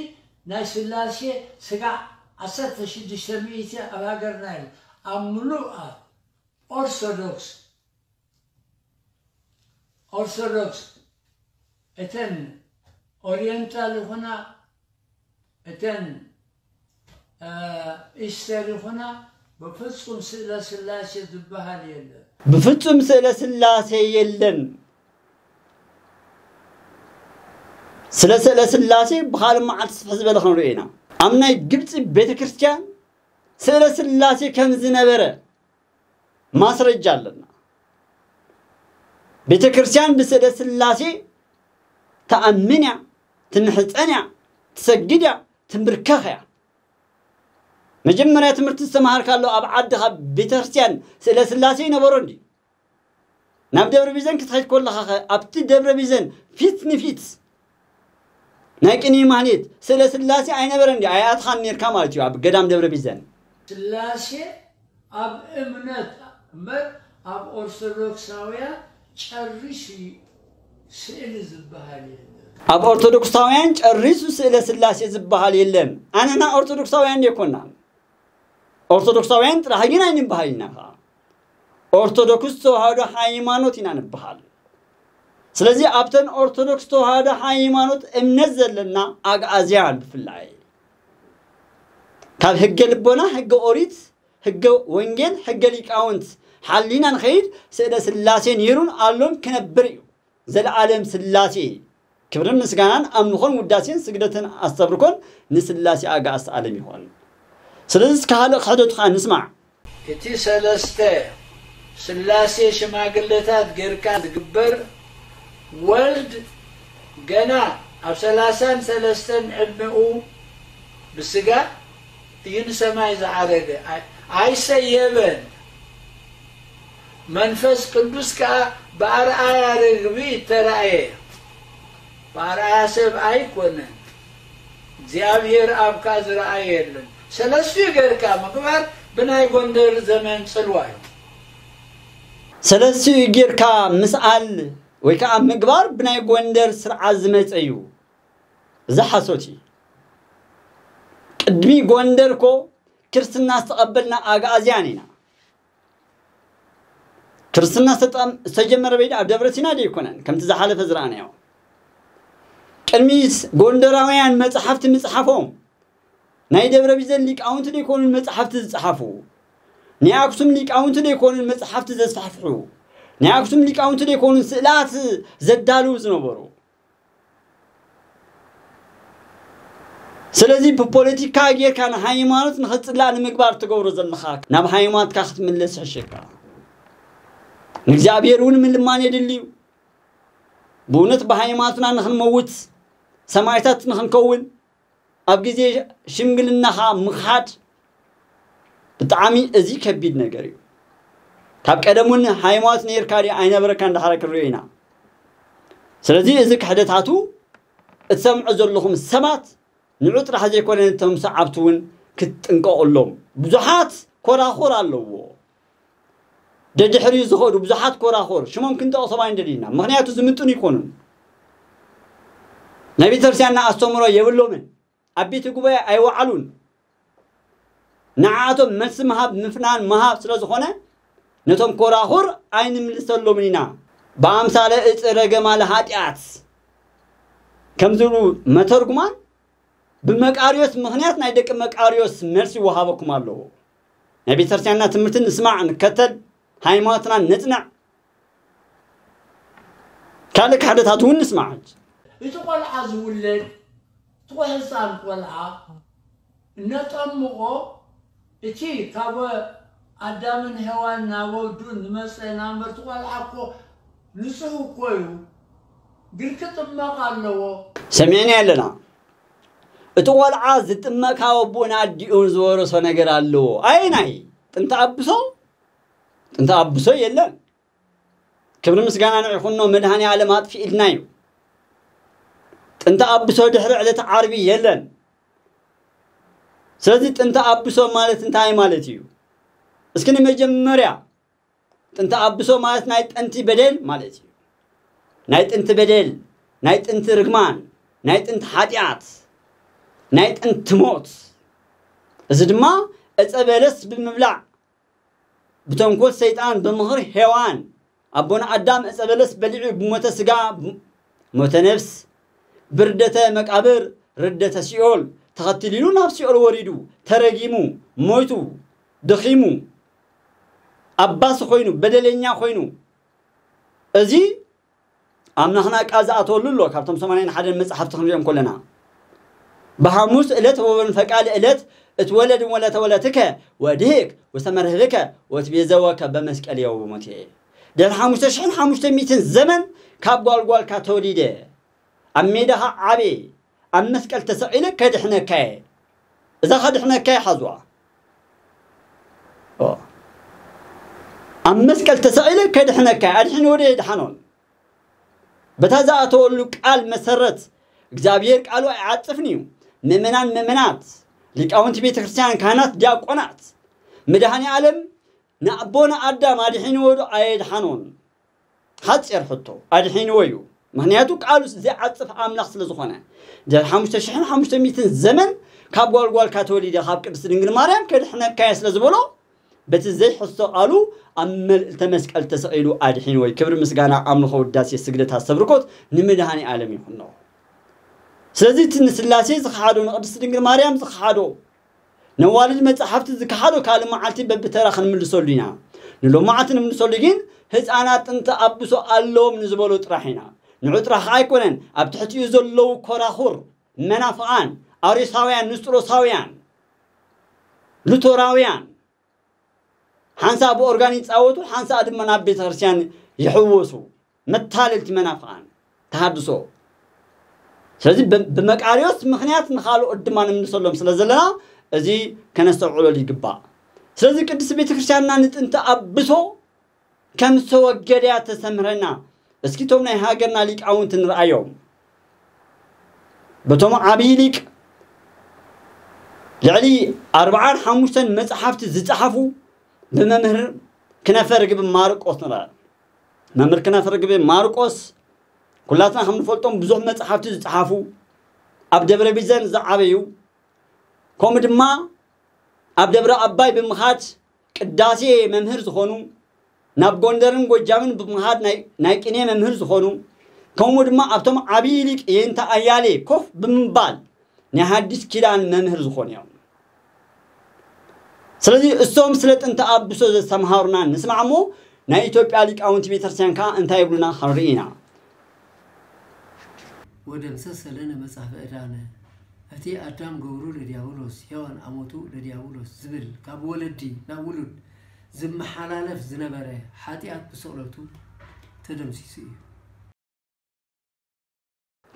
ናይ ስላሴ ስጋዕ ዓሰርተ ሽዱሽተ ሚእቲ ኣብ ሃገርና የለ። ኣብ ምሉእ ኣብ ኦርቶዶክስ ኦርቶዶክስ እተን ኦሪየንታል ይኹና እተን ኢስተር ይኹና ብፍፁም ስእለ ስላሴ ዝበሃል የለን። ብፍፁም ስእለ ስላሴ የለን። ስለ ስእለ ስላሴ ብኻልእ መዓልቲ ስፍሕ ዝበለ ክንሪኦ ኢና። ኣብ ናይ ግብፂ ቤተ ክርስቲያን ስእለ ስላሴ ከም ዝነበረ ማስረጃ ኣለና። ቤተ ክርስቲያን ብስእለ ስላሴ ትኣምን እያ፣ ትምሕፀን እያ፣ ትሰግድ እያ፣ ትምብርከኽ እያ። መጀመርያ ትምህርቲ ዝተምሃርካሉ ኣብ ዓድኻ ቤተ ክርስቲያን ስእለ ስላሴ ይነበሮ እንዲ? ናብ ደብረ ቢዘን ክትኸይድ ከለኻ ኸ ኣብቲ ደብረ ቢዘን ፊት ንፊት ናይ ቅኔ ማህሌት ስእለ ስላሴ ኣይነበረን ድዩ? ኣይኣትኻን ኔርካ ማለት እዩ ኣብ ገዳም ደብረ ቢዘን። ስላሴ ኣብ እምነት እምበር ኣብ ኦርቶዶክሳውያን ጨሪሱ ስእሊ ዝበሃል የለን። ኣብ ኦርቶዶክሳውያን ጨሪሱ ስእለ ስላሴ ዝበሃል የለን። ኣነና ኦርቶዶክሳውያን ዴኮና፣ ኦርቶዶክሳውያን ጥራሕ ግን ኣይንበሃል ኢና። ኦርቶዶክስ ተዋህዶ ሃይማኖት ኢና ንበሃል። ስለዚ ኣብተን ኦርቶዶክስ ተዋህዶ ሃይማኖት እምነት ዘለና ኣግኣዝያን ብፍላይ ካብ ህገ ልቦና፣ ህገ ኦሪት፣ ህገ ወንጌል፣ ህገ ሊቃውንት ሓሊና ንኸይድ፣ ስእለ ስላሴ ነይሩን ኣሎን ክነብር እዩ። ዘለዓለም ስላሴ ክብርን ምስጋናን ኣምልኾን ውዳሴን ስግደትን ኣስተብርኮን ንስላሴ ኣጋእዝተ ዓለም ይኾን። ስለዚ እስከ ካልእ ክሕደቱ ከዓ ንስማዕ። እቲ ሰለስተ ስላሴ ሽማግለታት ጌርካ ዝግበር፣ ወልድ ገና ኣብ ሰላሳን ሰለስተን ዕድመኡ ብስጋ እዩ ንሰማይ ዝዓረገ፣ ኣይ- ኣይሰየበን። መንፈስ ቅዱስ ከኣ ብኣርኣያ ርግቢ ተራእየ። ብኣርኣያ ሰብ ኣይኮነን፣ እግዚኣብሔር ኣብ ከኣ ዝረኣየ የለን። ሰለስቲኡ ጌርካ ምግባር ብናይ ጎንደር ዘመን ጽልዋ እዩ። ሰለስቲኡ ጌርካ ምስኣል ወይ ከዓ ምግባር ብናይ ጎንደር ስርዓት ዝመፀ እዩ። እዚ ሓሶት እዩ። ቅድሚ ጎንደር እኮ ክርስትና ዝተቐበልና ኣግኣዝያን ኢና። ክርስትና ዝተጠም- ዝተጀመረ በይዳ ኣብ ደብረ ሲና ዶ ኣይኮነን? ከምቲ ዝሓለፈ ዝረኣናዮ። ቅድሚ ጎንደራውያን መጽሓፍቲ ምጽሓፎም ናይ ደብረ ቢዘን ሊቃውንቲ ዶ ኣይኮኑን መጽሓፍቲ ዝጸሓፉ? ናይ ኣክሱም ሊቃውንቲ ዶ ኣይኮኑን መጽሓፍቲ ዘስፋሕፍሑ? ናይ ኣክሱም ሊቃውንቲ ዶ ኣይኮኑን ስእላት ዘዳልው ዝነበሩ? ስለዚ ብፖለቲካ ጌርካ ንሃይማኖት ንኽጽላእ ንምግባር ትገብሮ ዘለኻ፣ ናብ ሃይማኖትካ ክትምለስ ይሕሸካ። ንእግዚኣብሔር እውን ምልማን የድሊ እዩ። ብእውነት ብሃይማኖትና ንኽንመውት፣ ሰማዕታት ንኽንከውን፣ ኣብ ግዜ ሽምግልናኻ ምኻድ ብጣዕሚ እዚ ከቢድ ነገር እዩ። ካብ ቀደም እውን ሃይማኖት ነይርካ ድዩ ኣይነበረካን እንዳሓረ ክንሪኦ ኢና። ስለዚ እዚ ክሕደታቱ እትሰምዑ ዘለኹም ሰባት ንዑ ጥራሕ ዘይኮነ ነቶም ሰዓብቲ እውን ክትጥንቀቑሎም። ብዙሓት ኮራኹር ኣለዎ። ደድሕሪኡ ዝኸዱ ብዙሓት ኮራኹር ሽሞም ክንጠቕሶም ኣይንደልይና። ምኽንያቱ ዝምጥኑ ይኮኑን። ናይ ቤተክርስትያንና ኣስተምሮ የብሎምን። ኣብ ቤተ ጉባኤ ኣይወዓሉን። ንዓኣቶም መልሲ ምሃብ ምፍናን ምሃብ ስለ ዝኾነ ነቶም ኮራኹር ኣይንምልሰሎምን ኢና። ብኣምሳለ እፀ ረገማለ ሃጢኣት ከም ዝብሉ መተርጉማን ብመቃርዮስ ምኽንያት ናይ ደቂ መቃርዮስ መልሲ ይወሃበኩም ኣለዎ። ናይ ቤተክርስትያንና ትምህርቲ ንስማዕ ንከተል፣ ሃይማኖትና ነጽንዕ። ካልእ ክሕደታት እውን ንስማዕ። እቲ ቆልዓ ዝውለድ እቲ ህፃን ቆልዓ እነጠምቆ እቲ ካብ ኣዳምን ሄዋን ናብ ወዱን ዝመፀ ናምበር እቲ ቆልዓ እኮ ንፁህ እኮ እዩ ግን ክጥመቕ ኣለዎ። ሰሚዕና ኣለና። እቲ ቆልዓ ዝጥመቕ ካብ ኣቦን ኣዲኡን ዝወረሶ ነገር ኣለዎ። ኣየናይ? ጥንቲ ኣብሶ? ጥንቲ ኣብሶ የለን። ክብሪ ምስጋና ንዕኹኖ መድሃኒ ዓለም ኣጥፊእልና እዩ። ጥንቲ ኣብሶ ድሕሪ ዕለት ዓርቢ የለን። ስለዚ ጥንቲ ኣብሶ ማለት እንታይ ማለት እዩ? እስኪ ንመጀመርያ ጥንቲ ኣብሶ ማለት ናይ ጥንቲ በደል ማለት እዩ። ናይ ጥንቲ በደል፣ ናይ ጥንቲ ርግማን፣ ናይ ጥንቲ ሓጢኣት፣ ናይ ጥንቲ ሞት። እዚ ድማ ዕፀ በለስ ብምብላዕ ብተንኮል ሰይጣን ብምኽሪ ሄዋን ኣቦና ኣዳም ዕፀ በለስ በሊዑ ብሞተ ስጋ ሞተ ነፍስ ብርደተ መቃብር ርደተ ሲኦል ተኸትሊሉ ናብ ሲኦል ወሪዱ ተረጊሙ ሞይቱ ደኺሙ ኣባሲ ኮይኑ በደለኛ ኮይኑ እዚ ኣምላኽና ቃል ዝኣተወሉ ኣሎ። ካብቶም ሰማንያን ሓደን መጽሓፍቲ ክንሪኦም ከለና ብሓሙስ ዕለት ወበንፈቃል ዕለት እትወለድ ወለተወለትከ ወድህክ ወሰመርህብከ ወትቤዘወከ በመስቀል የው በሞቴ ድሕሪ ሓሙሽተ ሽሕን ሓሙሽተ ሚእትን ዘመን ካብ ጓልጓልካ ተወሊደ ኣብ ሜዳኻ ዓብየ ኣብ መስቀል ተሰቒለ ከድሕነካየ እዛ ከድሕነካየ ሓዝዋ ኣብ መስቀል ተሰቒለ ከድሕነካየ ኣድሒንዎ ዶ የድሓኖን በታ ዝኣተወሉ ቃል መሰረት እግዚኣብሔር ቃሉ ኣይዓጽፍን እዩ። ምእመናን ምእመናት፣ ሊቃውንቲ ቤተ ክርስቲያን፣ ካህናት፣ ዲያቆናት፣ መድኃኔ ዓለም ንኣቦና ኣዳም ኣድሒንዎ ዶ ኣየድሓኖን? ሓጺር ሕቶ፣ ኣድሒንዎ እዩ። ምኽንያቱ ቃሉ ዘይዓጽፍ ኣምላኽ ስለ ዝኾነ፣ ድሕሪ ሓሙሽተ ሽሕን ሓሙሽተ ሚእትን ዘመን ካብ ጓልጓልካ ተወሊደ ካብ ቅድስቲ ድንግል ማርያም ከድሕነካ እየ ስለ ዝበሎ፣ በቲ ዘይሕሶ ቃሉ ኣብ መልዕልተ መስቀል ተሰቒሉ ኣድሒንዎ። ክብሪ ምስጋና ኣምልኾ ውዳሴ ስግደት ኣስተብርኮት ንመድኃኔ ዓለም ይኹኖ። ስለዚ እቲ ንስላሴ ዝኸሓዶ፣ ንቅድስቲ ድንግል ማርያም ዝኸሓዶ፣ ነዋልድ መጻሕፍቲ ዝከሓዶ ካልእ መዓልቲ በብተራ ክንምልሰሉ ኢና። ንሎማዓንቲ ንምልሰሉ ግን ህፃናት ጥንተ ኣብሶ ኣለዎም ንዝበሎ ጥራሕ ኢና። ንዑ ጥራሕ ከዓ ኣይኮነን፣ ኣብ ትሕቲኡ ዘለዉ ኮራኹር መናፍቓን፣ ኣሪሳውያን፣ ንስጥሮሳውያን፣ ሉቶራውያን፣ ሓንሳእ ብኦርጋን ይጻወቱ፣ ሓንሳእ ድማ ናብ ቤተ ክርስቲያን ይሕወሱ። መታለልቲ መናፍቓን ተሃድሶ። ስለዚ ብ-፣ ብመቃርዮስ ምኽንያት ንኻልኦት ድማ ንምልሰሎም ስለ ዘለና፣ እዚ ከነስተውዕለሉ ይግባእ። ስለዚ ቅድስቲ ቤተ ክርስቲያንና ንጥንተ ኣብሶ ከም ዝተወገደ እያ ተስተምህረና። እስኪ እቶም ናይ ሃገርና ሊቃውንቲ ንርኣዮም። በቶም ዓብዪ ሊቅ ልዕሊ ኣርብዓን ሓሙሽተን መጽሓፍቲ ዝጸሓፉ ብመምህር ክነፈ ርግቢ ማርቆስ ንርኣ። መምህር ክነፈ ርግቢ ማርቆስ ኩላትና ከም ንፈልጦም ብዙሕ መጽሓፍቲ ዝጸሓፉ፣ ኣብ ደብረ ቢዘን ዝዓበዩ፣ ከምኡ ድማ ኣብ ደብረ ኣባይ ብምኻድ ቅዳሴ መምህር ዝኾኑ፣ ናብ ጎንደርን ጎጃምን ብምኻድ ናይ፣ ናይ ቅኔ መምህር ዝኾኑ፣ ከምኡ ድማ ኣብቶም ዓብዪ ሊቅ የንተ ኣያሌ ኮፍ ብምባል ናይ ሓዲስ ኪዳን መምህር ዝኾኑ እዮም። ስለዚ እሶም ስለ ጥንተ ኣብሶ ዘስተምሃሩና ንስማዕ እሞ፣ ናይ ኢትዮጵያ ሊቃውንቲ ቤተክርስትያን ከኣ እንታይ ይብሉና ክንርኢ ኢና። ወደምሰሰ ለነ መጽሐፈ ዕዳነ። እቲ ኣዳም ገብሩ ለዲያብሎስ፣ ሔዋን ኣሞቱ ለዲያብሎስ ዝብል ካብ ወለዲ ናብ ውሉድ ዝመሓላለፍ ዝነበረ ሓጢኣት ብስቕለቱ ተደምሲሱ እዩ።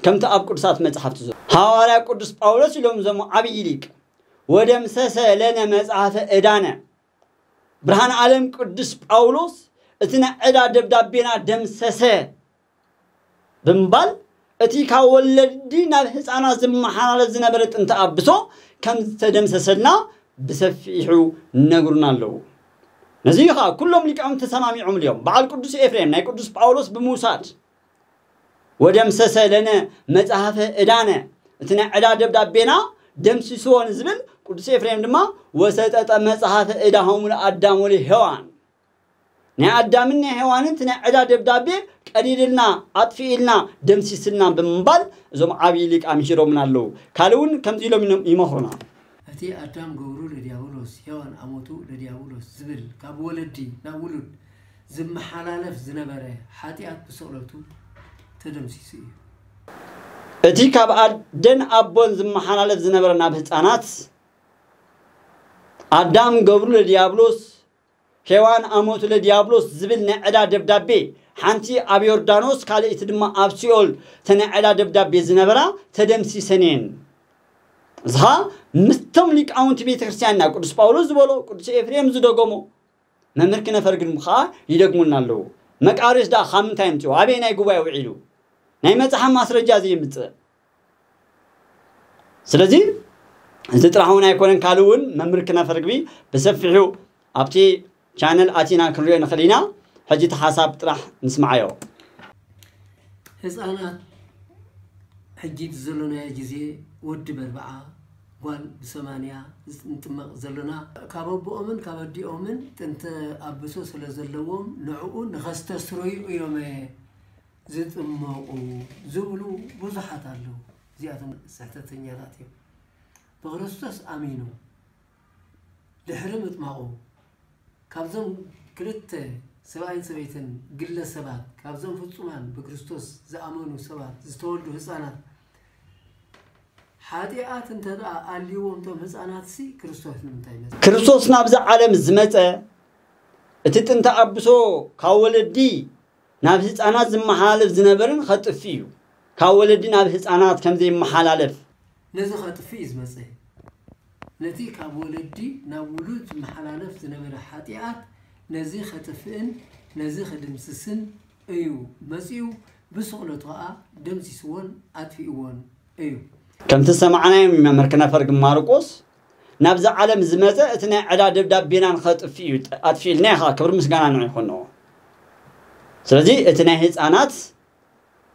ከምቲ ኣብ ቅዱሳት መጻሕፍቲ ዘሎ፣ ሃዋርያ ቅዱስ ጳውሎስ ኢሎም እዞም ዓብዪ ሊቅ፣ "ወደምሰሰ ለነ መጽሐፈ ዕዳነ፣ ብርሃን ዓለም ቅዱስ ጳውሎስ እቲ ናይ ዕዳ ደብዳቤና ደምሰሰ" ብምባል፣ እቲ ካብ ወለዲ ናብ ህፃናት ዝመሓላለፍ ዝነበረ ጥንተ ኣብሶ ከም ዝተደምሰሰልና ብሰፊሑ ነግሩና ኣለዉ። ነዚ ከዓ ኩሎም ሊቃውንቲ ተሰማሚዖምሉ እዮም። በዓል ቅዱስ ኤፍሬም ናይ ቅዱስ ጳውሎስ ብምውሳድ፣ "ወደምሰሰ ለነ መጽሐፈ ዕዳነ፣ እቲ ናይ ዕዳ ደብዳቤና ደምሲስዎ" ንዝብል፣ ቅዱስ ኤፍሬም ድማ "ወሰጠጠ መጽሐፈ ዕዳሆሙ ለአዳም ወለሔዋን፣ ናይ ኣዳምን ናይ ሔዋንን እቲ ናይ ዕዳ ደብዳቤ ቀዲድልና፣ ኣጥፊእልና፣ ደምሲስልና" ብምባል እዞም ዓብዪ ሊቅ ኣምሂሮምና ኣለዉ። ካልእ እውን ከምዚ ኢሎም ይነ-፣ ይመኽሩና። እቲ ኣዳም ገብሩ ለዲያብሎስ፣ ሔዋን ኣሞቱ ለዲያብሎስ ዝብል ካብ ወለዲ ናብ ውሉድ ዝመሓላለፍ ዝነበረ ሓጢኣት ብስቕለቱ ተደምሲሱ እዩ። እቲ ካብ ኣደን ኣቦን ዝመሓላለፍ ዝነበረ ናብ ህፃናት፣ ኣዳም ገብሩ ለዲያብሎስ፣ ሔዋን ኣሞቱ ለዲያብሎስ ዝብል ናይ ዕዳ ደብዳቤ፣ ሓንቲ ኣብ ዮርዳኖስ፣ ካልኣይቲ ድማ ኣብ ሲኦል፣ እተን ናይ ዕዳ ደብዳቤ ዝነበራ ተደምሲሰን እየን። እዚ ኸኣ ምስቶም ሊቃውንቲ ቤተ ክርስቲያንና፣ ቅዱስ ጳውሎስ ዝበሎ፣ ቅዱስ ኤፍሬም ዝደገሞ፣ መምህር ክነፈር ግን ከዓ ይደግሙልና ኣለዉ። መቃርዮስ ደኣ ካብ ምንታይ ኣምፅኦ? ኣበየናይ ጉባኤ ውዒሉ? ናይ መፅሓፍ ማስረጃ ዘየምፅእ። ስለዚ እዚ ጥራሕ እውን ኣይኮነን፣ ካልእ እውን መምህር ክነፈር ግቢ ብሰፊሑ ኣብቲ ቻነል ኣቲና ክንሪኦ ንኽእል ኢና። ሕጂ እቲ ሓሳብ ጥራሕ ንስምዓዮ። ህፃናት ሕጂ እቲ ዘሎናዮ ግዜ ወዲ በርብዓ ጓል ብሰማንያ ንጥመቕ ዘሎና፣ ካብ ኣቦኦምን ካብ ኣዲኦምን ጥንተ ኣብሶ ስለ ዘለዎም ንዕኡ ንኸስተስረዩ እዮም ዝጥመቑ ዝብሉ ብዙሓት ኣለዉ። እዚኣቶም ስሕተተኛታት እዮም። ብክርስቶስ ኣሚኑ ድሕሪ ምጥማቑ ካብዞም ክልተ ሰብኣይን ሰበይትን ግለ ሰባት፣ ካብዞም ፍጹማን ብክርስቶስ ዝኣመኑ ሰባት ዝተወልዱ ህፃናት ሓጢኣት እንተ ደኣ ኣልይዎም እቶም ህፃናትሲ ክርስቶስ ንምንታይ መጸ? ክርስቶስ ናብዛ ዓለም ዝመጸ እቲ ጥንተ ኣብሶ ካብ ወለዲ ናብ ህፃናት ዝመሓላለፍ ዝነበርን ኸጥፍ እዩ። ካብ ወለዲ ናብ ህፃናት ከም ዘይመሓላለፍ። ነዚ ኸጥፍ እዩ ዝመጸ። ነቲ ካብ ወለዲ ናብ ውሉድ ዝመሓላለፍ ዝነበረ ሓጢኣት ነዚ ኸጥፍእን ነዚ ኸድምስስን እዩ መጺኡ። ብስቕለቱ ኸኣ ደምሲስዎን ኣጥፊእዎን እዩ። ከምቲ ዝሰማዕናዮ መምህር ክነፈር ግን ማርቆስ ናብዛ ዓለም ዝመጸ እቲ ናይ ዕዳ ደብዳቤና ንኸጥፍእ እዩ ኣጥፊእልና ኢኻ። ክብሪ ምስጋና ንዑ ይኹንዎ። ስለዚ እቲ ናይ ህፃናት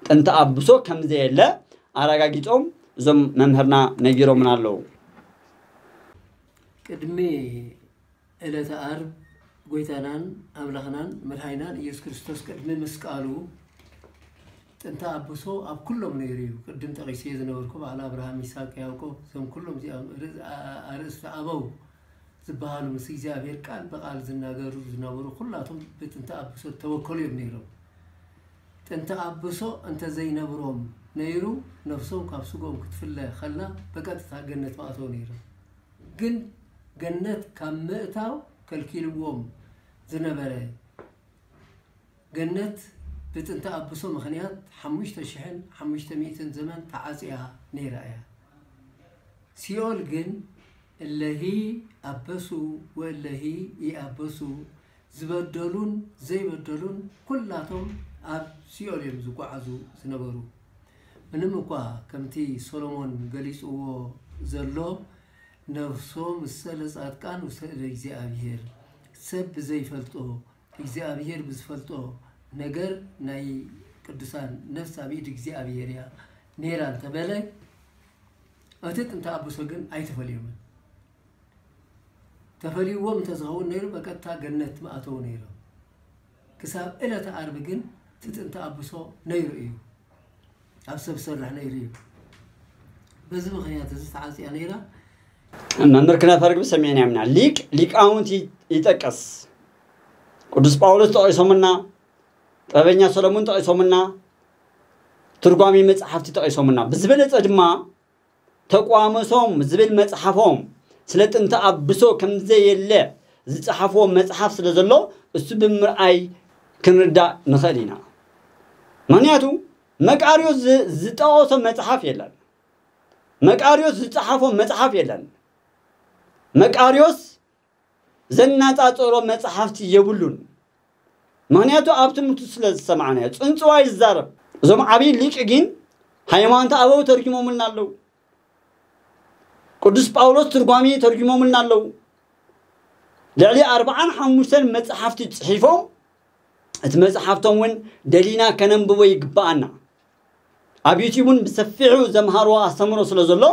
ጥንቲ ኣብሶ ከም ዘየለ ኣረጋጊጾም እዞም መምህርና ነጊሮምና ኣለዉ። ቅድሚ ዕለተ ዓርብ ጎይታናን ኣምላኽናን መድሓኒናን ኢየሱስ ክርስቶስ ቅድሚ ምስቃሉ ጥንተ ኣብሶ ኣብ ኩሎም ነይሩ እዩ። ቅድም ጠቒሰዮ ዝነበርኩ በዓል ኣብርሃም፣ ይስሐቅ፣ ያዕቆብ፣ እዞም ኩሎም እዚኦም ርእስ-፣ ኣ-፣ ኣ-፣ ኣርእስቲ ኣበው ዝበሃሉ ምስ እግዚኣብሔር ቃል ብቓል ዝናገሩ ዝነበሩ ኩላቶም ብጥንተ ኣብሶ ዝተወከሉ እዮም ነይሮም። ጥንተ ኣብሶ እንተ ዘይነብሮም ነይሩ ነፍሶም ካብ ስጎም ክትፍለ ከላ ብቀጥታ ገነት ምኣተው ነይሮም። ግን ገነት ካብ ምእታው ከልኪልዎም ዝነበረ ገነት ብጥንተ ኣብሶ ምኽንያት ሓሙሽተ ሽሕን ሓሙሽተ ሚእትን ዘመን ተዓጽያ ነይራ እያ። ሲኦል ግን እለሂ ኣበሱ ወእለሂ ይኣበሱ፣ ዝበደሉን ዘይበደሉን ኩላቶም ኣብ ሲኦል እዮም ዝጓዓዙ ዝነበሩ። ምንም እኳ ከምቲ ሶሎሞን ገሊጽዎ ዘሎ ነፍሶ ምሰለ ጻድቃን ውስተ እደ እግዚኣብሔር፣ ሰብ ብዘይፈልጦ እግዚኣብሔር ብዝፈልጦ ነገር ናይ ቅዱሳን ነፍስ ኣብ ኢድ እግዚኣብሔር እያ ነይራ እንተበለ፣ እቲ ጥንተ ኣብሶ ግን ኣይተፈልዮምን። ተፈልይዎም እንተዝኸውን ነይሩ በቀጥታ ገነት ምኣተው ነይሮም። ክሳብ ዕለተ ዓርቢ ግን እቲ ጥንተ ኣብሶ ነይሩ እዩ። ኣብ ሰብ ሰራሕ ነይሩ እዩ። በዚ ምኽንያት እዚ ተዓጽያ ነይራ። መምህር ክነፈርግቢ ሰሚዕና ኢና። ሊቅ ሊቃውንት ይ-፣ ይጠቅስ። ቅዱስ ጳውሎስ ጠቒሶምና፣ ጥበበኛ ሰሎሞን ጠቒሶምና፣ ትርጓሜ መጽሓፍቲ ጠቒሶምና። ብዝበለጸ ድማ ተቋምሶም ዝብል መጽሓፎም ስለ ጥንተ ኣብሶ ከም ዘየለ ዝጸሓፍዎ መጽሓፍ ስለ ዘሎ፣ እሱ ብምርኣይ ክንርዳእ ንኽእል ኢና። ምኽንያቱ መቃርዮስ ዝ-፣ ዝጠቐሶ መጽሓፍ የለን። መቃርዮስ ዝጸሓፎ መጽሓፍ የለን። መቃርዮስ ዘናጻጸሮ መጽሓፍቲ የብሉን። ምኽንያቱ ኣብ ትምህርቱ ስለ ዝሰማዕናዮ። ጽንጽዋይ ይዛረብ። እዞም ዓብዪ ሊቅ ግን ሃይማኖተ ኣበው ተርጉሞምልና ኣለዉ። ቅዱስ ጳውሎስ ትርጓሜ ተርጉሞምልና ኣለዉ። ልዕሊ ኣርብዓን ሓሙሽተን መጽሓፍቲ ጽሒፎም፣ እቲ መጽሓፍቶም እውን ደሊና ከነንብቦ ይግብኣና። ኣብ ዩቲዩብ እውን ብሰፊሑ ዘምሃርዎ ኣስተምህሮ ስለ ዘሎ፣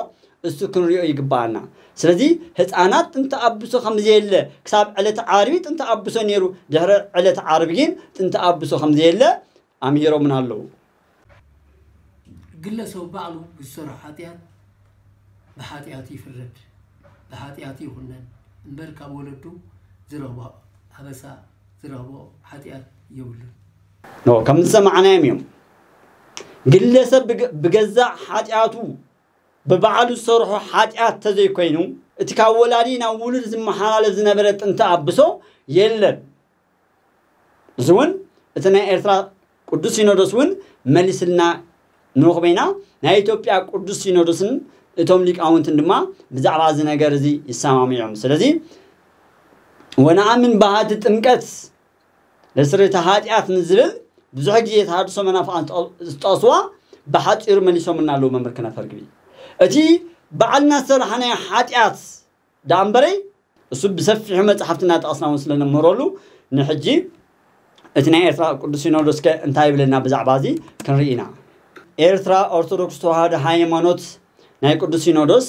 እሱ ክንሪኦ ይግብኣና። ስለዚ ህፃናት ጥንተ ኣብሶ ከም ዘየለ፣ ክሳብ ዕለተ ዓርቢ ጥንተ ኣብሶ ነይሩ፣ ድሕሪ ዕለተ ዓርቢ ግን ጥንተ ኣብሶ ከም ዘየለ ኣምሂሮምና ኣለዉ። ግለሰብ ባዕሉ ብዝሰርሖ ሓጢኣት ብሓጢኣቱ ይፍረድ፣ ብሓጢኣቱ ይኹነን እምበር ካብ ወለዱ ዝረኽቦ ኣበሳ፣ ዝረኽቦ ሓጢኣት የብሉን። ኖ፣ ከም ዝሰማዕናዮም እዮም። ግለሰብ ብገ-፣ ብገዛእ ሓጢኣቱ ብባዕሉ ዝሰርሖ ሓጢኣት ተዘይኮይኑ፣ እቲ ካብ ወላዲ ናብ ውሉድ ዝመሓላለፍ ዝነበረ ጥንተ ኣብሶ የለን። እዚ እውን እቲ ናይ ኤርትራ ቅዱስ ሲኖዶስ እውን መሊስልና ንረኽቦ ኢና። ናይ ኢትዮጵያ ቅዱስ ሲኖዶስን እቶም ሊቃውንትን ድማ ብዛዕባ እዚ ነገር እዚ ይሰማምዑ እዮም። ስለዚ ወነኣምን በሃቲ ጥምቀት ለስርየተ ኃጢአት ንዝብል ብዙሕ ግዜ ተሃድሶ መናፍቃን ዝጠ-፣ ዝጠቕስዋ ብሓጺሩ መሊሶምልና ኣለዉ መምህር ክነፈር ግቢ። እቲ ባዕልና ዝሰራሕናዮ ኃጢአት ደኣ እምበረይ፣ እሱ ብሰፊሑ መጽሓፍቲ እናጠቐስና እውን ስለ ነምህረሉ፣ ንሕጂ እቲ ናይ ኤርትራ ቅዱስ ሲኖዶስ ከ እንታይ ይብለና ብዛዕባ እዚ ክንርኢ ኢና። ኤርትራ ኦርቶዶክስ ተዋህዶ ሃይማኖት ናይ ቅዱስ ሲኖዶስ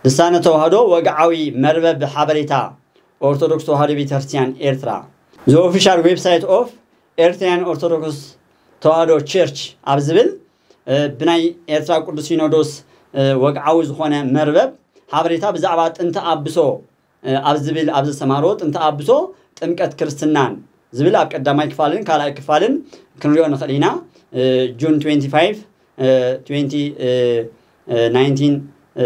ልሳነ ተዋህዶ ወግዓዊ መርበብ ሓበሬታ ኦርቶዶክስ ተዋህዶ ቤተክርስትያን ኤርትራ፣ The Official Website of Eritrean Orthodox Tewahedo Church ኣብ ዝብል፣ እ፣ ብናይ ኤርትራ ቅዱስ ሲኖዶስ፣ እ፣ ወግዓዊ ዝኾነ መርበብ ሓበሬታ ብዛዕባ ጥንተ ኣብሶ፣ እ፣ ኣብ ዝብል፣ ኣብ ዘስተማህሮ ጥንተ ኣብሶ ጥምቀት ክርስትናን ዝብል ኣብ ቀዳማይ ክፋልን ካልኣይ ክፋልን ክንሪኦ ንኽእል ኢና። እ፣ ጁን ትዌንቲ ፋይቭ፣ እ፣ ትዌንቲ፣ እ፣ እ፣ ናይንቲን፣ እ፣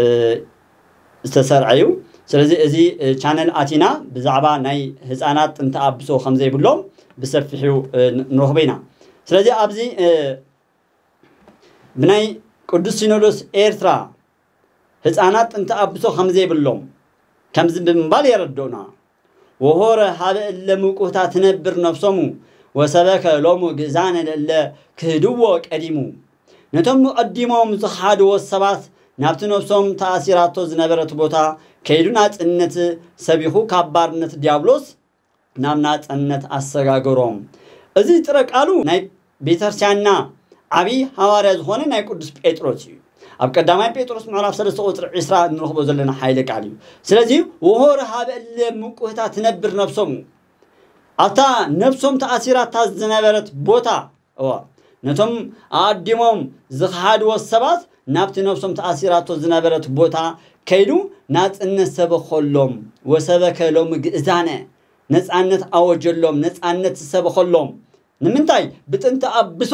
ዝተሰርዐ እዩ። ስለዚ እዚ፣ እ፣ ቻነል ኣቲና ብዛዕባ ናይ ህፃናት ጥንተ ኣብሶ ከም ዘይብሎም ብሰፊሑ፣ እ፣ ን-፣ ንረኽቦ ኢና። ስለዚ ኣብዚ፣ እ፣ ብናይ ቅዱስ ሲኖዶስ ኤርትራ ህፃናት ጥንተ ኣብሶ ከም ዘይብሎም ከምዚ ብምባል የረድኡና። ወሆረ ሀበ እለ ምቁህታ ትነብር ነፍሶሙ ወሰበከ ሎሙ ግእዛነ ለእለ ክህድዎ ቀዲሙ። ነቶም ቀዲሞም ዝኸሓድዎ ሰባት ናብቲ ነፍሶም ተኣሲራቶ ዝነበረት ቦታ ከይዱ ናጽነት ሰቢኹ ካብ ባርነት ዲያብሎስ ናብ ናጽነት ኣሰጋገሮም። እዚ ጥረ ቃሉ ናይ ቤተክርስትያንና ዓብዪ ሃዋርያ ዝኾነ ናይ ቅዱስ ጴጥሮስ እዩ። ኣብ ቀዳማይ ጴጥሮስ ምዕራፍ ሰለስተ ቁፅሪ ዕስራ እንረኽቦ ዘለና ሓይለ ቃል እዩ። ስለዚ ወሆረ ሀበ እለ ምቁህታ ትነብር ነብሶሙ፣ ኣብታ ነብሶም ተኣሲራታ ዝነበረት ቦታ፣ እዋ፣ ነቶም ኣኣዲሞም ዝኸሓድዎ ሰባት ናብቲ ነብሶም ተኣሲራቶ ዝነበረት ቦታ ከይዱ ናጽነት ሰበኸሎም። ወሰበከ ሎሚ ግእዛነ፣ ነጻነት ኣወጀሎም፣ ነጻነት ዝሰበኸሎም። ንምንታይ? ብጥንቲ ኣብሶ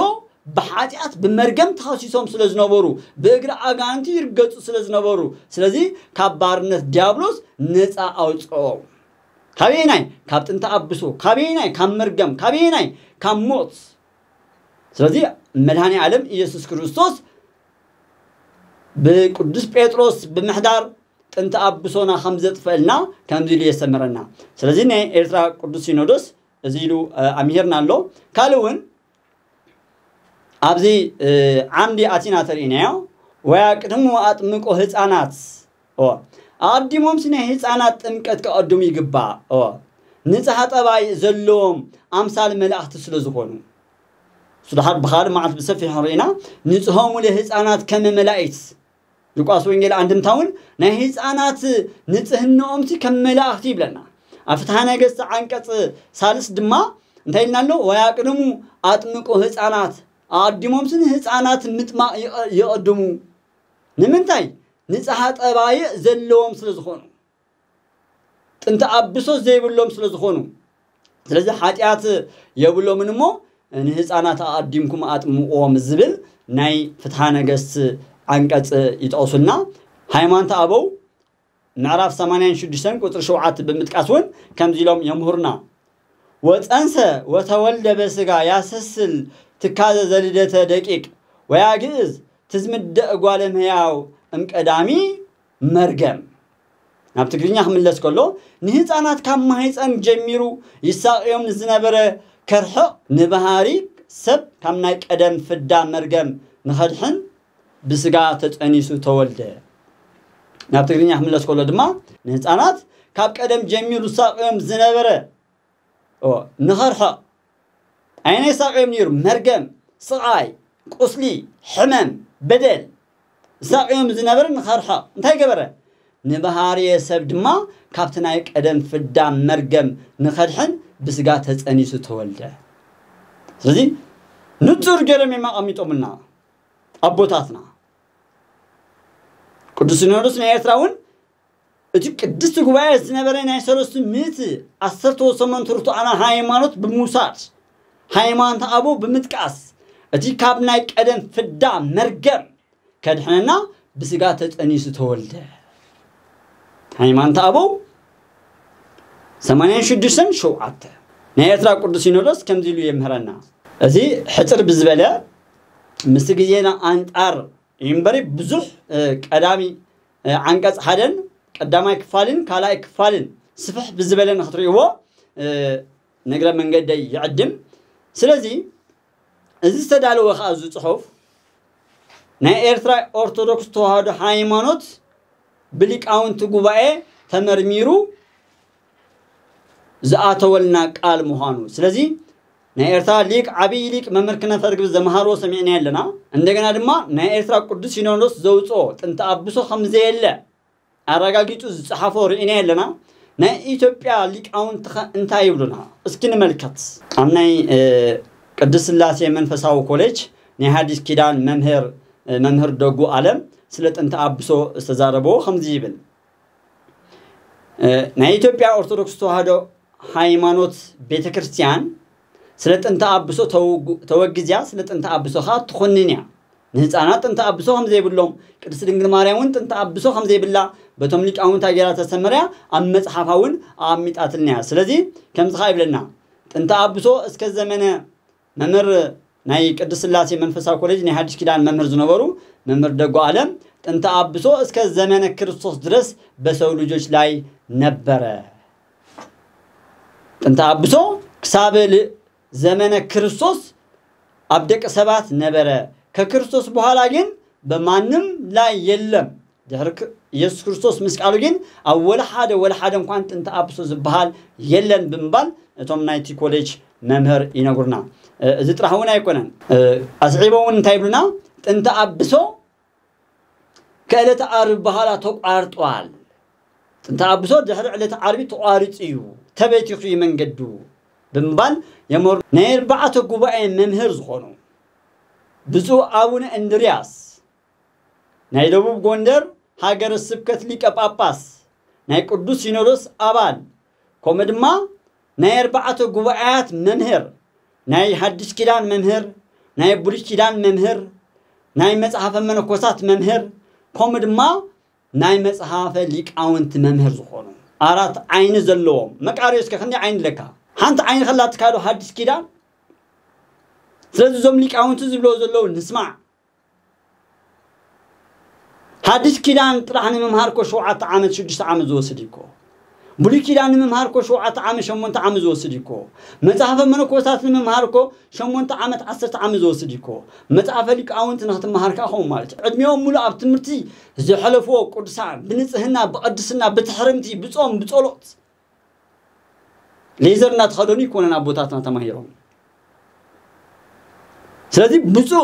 ብሓጢኣት ብመርገም ተኸሲሶም ስለ ዝነበሩ፣ ብእግሪ ኣጋንንቲ ይርገጹ ስለ ዝነበሩ፣ ስለዚ ካብ ባርነት ዲያብሎስ ነጻ ኣውጽኦም። ካበየናይ? ካብ ጥንቲ ኣብሶ። ካበየናይ? ካብ መርገም። ካበየናይ? ካብ ሞት። ስለዚ መድኃኔ ዓለም ኢየሱስ ክርስቶስ ብቅዱስ ጴጥሮስ ብምሕዳር ጥንቲ ኣብሶና ከም ዘጥፈልና ከምዚ ኢሉ የስተምረና። ስለዚ ናይ ኤርትራ ቅዱስ ሲኖዶስ እዚ ኢሉ፣ እ፣ ኣምሂርና ኣሎ። ካልእ እውን ኣብዚ፣ እ፣ ዓምዲ ኣቲና ተርእናዮ። ወያቅድሙ ኣጥምቆ ህፃናት። ኦ፣ ኣቐዲሞምሲ ናይ ህፃናት ጥምቀት ከቐድሙ ይግባእ። ኦ፣ ንጽሃ ጠባይ ዘለዎም ኣምሳል መላእኽቲ ስለ ዝኾኑ። እሱ ደሓር ብኻልእ መዓልቲ ብሰፊሑ ርኢና፣ ንጽሆሙ ለህፃናት ከመ መላእክት። ሉቃስ ወንጌል ኣንድምታ እውን ናይ ህፃናት ንጽህናኦምሲ ከም መላእኽቲ ይብለና። ኣብ ፍትሐ ነገሥት ዓንቀጽ ሳልስ ድማ እንታይ ኢልና ኣሎ? ወያቅድሙ ኣጥምቁ ህፃናት፣ ኣቐዲሞምሲ ንህፃናት ምጥማቕ ይቐ-፣ ይቐድሙ። ንምንታይ? ንጽሃ ጠባይእ ዘለዎም ስለ ዝኾኑ። ጥንቲ ኣብሶ ዘይብሎም ስለ ዝኾኑ። ስለዚ ሓጢኣት የብሎምን እሞ ንህፃናት ኣቐዲምኩም ኣጥምቕዎም ዝብል ናይ ፍትሐ ነገሥት ዓንቀጽ ይጠቕሱልና። ሃይማኖተ ኣበው ምዕራፍ ሰማንያን ሽዱሽተን ቁጽሪ ሸውዓተ ብምጥቃስ እውን ከምዚ ኢሎም የምህሩና። ወፀንሰ ወተወልደ በስጋ ያሰስል ትካዘ ዘልደተ ደቂቅ ወያግእዝ ትዝምደ እጓለ እምሕያው እምቀዳሚ መርገም። ናብ ትግርኛ ክምለስ ከሎ፣ ንህፃናት ካብ ማህፀን ጀሚሩ ይሳቕዮም ንዝነበረ ከርሕቕ፣ ንባህሪ ሰብ ካብ ናይ ቀደም ፍዳ መርገም ንኸድሕን ብስጋ ተፀኒሱ ተወልደ። ናብ ትግርኛ ክምለስ ከሎ ድማ፣ ንህፃናት ካብ ቀደም ጀሚሩ ዝሳቕዮም ዝነበረ፣ ኦ፣ ንኸርሕቕ። ኣየናይ ሳቕዮም ነይሩ? መርገም፣ ስቓይ፣ ቁስሊ፣ ሕመም፣ በደል። ዝሳቕዮም ዝነበረ ንኸርሕቕ። እንታይ ገበረ? ንባህርየ ሰብ ድማ ካብቲ ናይ ቀደም ፍዳ መርገም ንኸድሕን ብስጋ ተጸኒሱ ተወልደ። ስለዚ ንጹር ገይሮም እዮም ኣቐሚጦምልና ኣቦታትና። ቅዱስ ሲኖዶስ ናይ ኤርትራ እውን እቲ ቅድስቲ ጉባኤ ዝነበረ ናይ ሰለስቱ ሚእቲ ዓሰርተ ወሰመንቱ ርቱዓና ሃይማኖት ብምውሳድ፣ ሃይማኖት ኣበው ብምጥቃስ፣ እቲ ካብ ናይ ቀደም ፍዳ መርገም ከድሕነና ብስጋ ተጸኒሱ ተወልደ። ሃይማኖት ኣበው ሰማንያን ሽዱሽተን ሸውዓተ። ናይ ኤርትራ ቅዱስ ሲኖዶስ ከምዚ ኢሉ የምህረና። እዚ ሕጽር ብዝበለ ምስቲ ግዜና ኣንጻር እዩ እምበሪ ብዙሕ፣ እ፣ ቀዳሚ፣ እ፣ ዓንቀጽ ሓደን ቀዳማይ ክፋልን ካልኣይ ክፋልን ስፍሕ ብዝበለ ንክትርእይዎ፣ እ፣ ንእግረ መንገደይ ይዕድም። ስለዚ እዚ ዝተዳለወ ከኣ እዚ ጽሑፍ ናይ ኤርትራ ኦርቶዶክስ ተዋህዶ ሃይማኖት ብሊቃውንቲ ጉባኤ ተመርሚሩ ዝኣተወልና ቃል ምዃኑ። ስለዚ ናይ ኤርትራ ሊቅ፣ ዓብዪ ሊቅ መምህር ክነፈርግብ ዘምሃርዎ ሰሚዕና ኣለና። እንደገና ድማ ናይ ኤርትራ ቅዱስ ሲኖዶስ ዘውፅኦ ጥንቲ ኣብሶ ከም ዘየለ ኣረጋጊጹ ዝጸሓፎ ርኢና ኣለና። ናይ ኢትዮጵያ ሊቃውንቲ ኸ እንታይ ይብሉና? እስኪ ንመልከት። ኣብ ናይ፣ እ፣ ቅድስት ስላሴ መንፈሳዊ ኮሌጅ ናይ ሓዲስ ኪዳን መምህር፣ እ፣ መምህር ደጉ ኣለም ስለ ጥንቲ ኣብሶ ዝተዛረበዎ ከምዚ ይብል። እ፣ ናይ ኢትዮጵያ ኦርቶዶክስ ተዋህዶ ሃይማኖት ቤተ ክርስቲያን ስለ ጥንቲ ኣብሶ ተውጉ-፣ ተወግዝያ፣ ስለ ጥንቲ ኣብሶ ኸኣ ትኹንን እያ። ንህፃናት ጥንቲ ኣብሶ ከም ዘይብሎም፣ ቅድስት ድንግል ማርያም እውን ጥንቲ ኣብሶ ከም ዘይብላ በቶም ሊቃውንታ ጌራ ተሰመርያ ኣብ መጽሓፋ እውን ኣቐሚጣትልና እያ። ስለዚ ከምዚ ኸኣ ይብለና፣ ጥንቲ ኣብሶ እስከ ዘመነ መምህር ናይ ቅድስት ስላሴ መንፈሳዊ ኮሌጅ ናይ ሓዲስ ኪዳን መምህር ዝነበሩ መምህር ደጎ ኣለም፣ ጥንቲ ኣብሶ እስከ ዘመነ ክርስቶስ ድረስ በሰው ልጆች ላይ ነበረ። ጥንቲ ኣብሶ ክሳብ ል-፣ ዘመነ ክርስቶስ ኣብ ደቂ ሰባት ነበረ። ከክርስቶስ በኋላ ግን በማንም ላይ የለም። ድሕሪ ክ- ኢየሱስ ክርስቶስ ምስቃሉ ግን ኣብ ወላ ሓደ ወላ ሓደ እንኳን ጥንተ ኣብሶ ዝበሃል የለን ብምባል እቶም ናይቲ ኮሌጅ መምህር ይነግሩና። እ፣ እዚ ጥራሕ እውን ኣይኮነን። እ፣ ኣስዒቦም እውን እንታይ ይብሉና? ጥንተ ኣብሶ ከዕለተ ዓርቢ በኋላ ተቋርጧል። ጥንተ ኣብሶ ድሕሪ ዕለተ ዓርቢ ተቋሪጹ እዩ፣ ተበቲኹ እዩ መንገዱ ብምባል የመሩ። ናይ ኣርባዕተ ጉባኤ መምህር ዝኾኑ ብፁዕ ኣቡነ እንድርያስ ናይ ደቡብ ጎንደር ሃገረ ስብከት ሊቀ ጳጳስ፣ ናይ ቅዱስ ሲኖዶስ ኣባል፣ ከምኡ ድማ ናይ ኣርባዕተ ጉባኤያት መምህር፣ ናይ ሓድሽ ኪዳን መምህር፣ ናይ ብሉይ ኪዳን መምህር፣ ናይ መጽሓፈ መነኮሳት መምህር፣ ከምኡ ድማ ናይ መጽሓፈ ሊቃውንቲ መምህር ዝኾኑ ኣራት ዓይኒ ዘለዎም መቃርዮስ ከ ክንደይ ዓይኒ ኣለካ? ሓንቲ ዓይኒ ከላትካ ዶ ሓድሽ ኪዳን? ስለዚ እዞም ሊቃውንቲ ዝብሎ ዘለዉ ንስማዕ። ሓድሽ ኪዳን ጥራሕ ንምምሃር ኮ ሸውዓተ ዓመት ሽዱሽተ ዓመት ዝወስድ እዩ ኮ። ብሉይ ኪዳን ንምምሃር ኮ ሸውዓተ ዓመት ሸሞንተ ዓመት ዝወስድ እዩ ኮ። መጽሓፈ መነኮሳት ንምምሃር ኮ ሸሞንተ ዓመት ዓሰርተ ዓመት ዝወስድ እዩ ኮ። መጽሓፈ ሊቃውንቲ ንክትምሃር ከኣ ከምኡ ማለት እዩ። ዕድሚኦም ሙሉእ ኣብ ትምህርቲ ዘሕለፍዎ ቅዱሳን ብንጽህና ብቅድስና ብትሕርምቲ ብጾም ብጸሎት ሌዘር እናተኸደኑ ይኮነን ኣቦታትና ተማሂሮም። ስለዚ ብፁዕ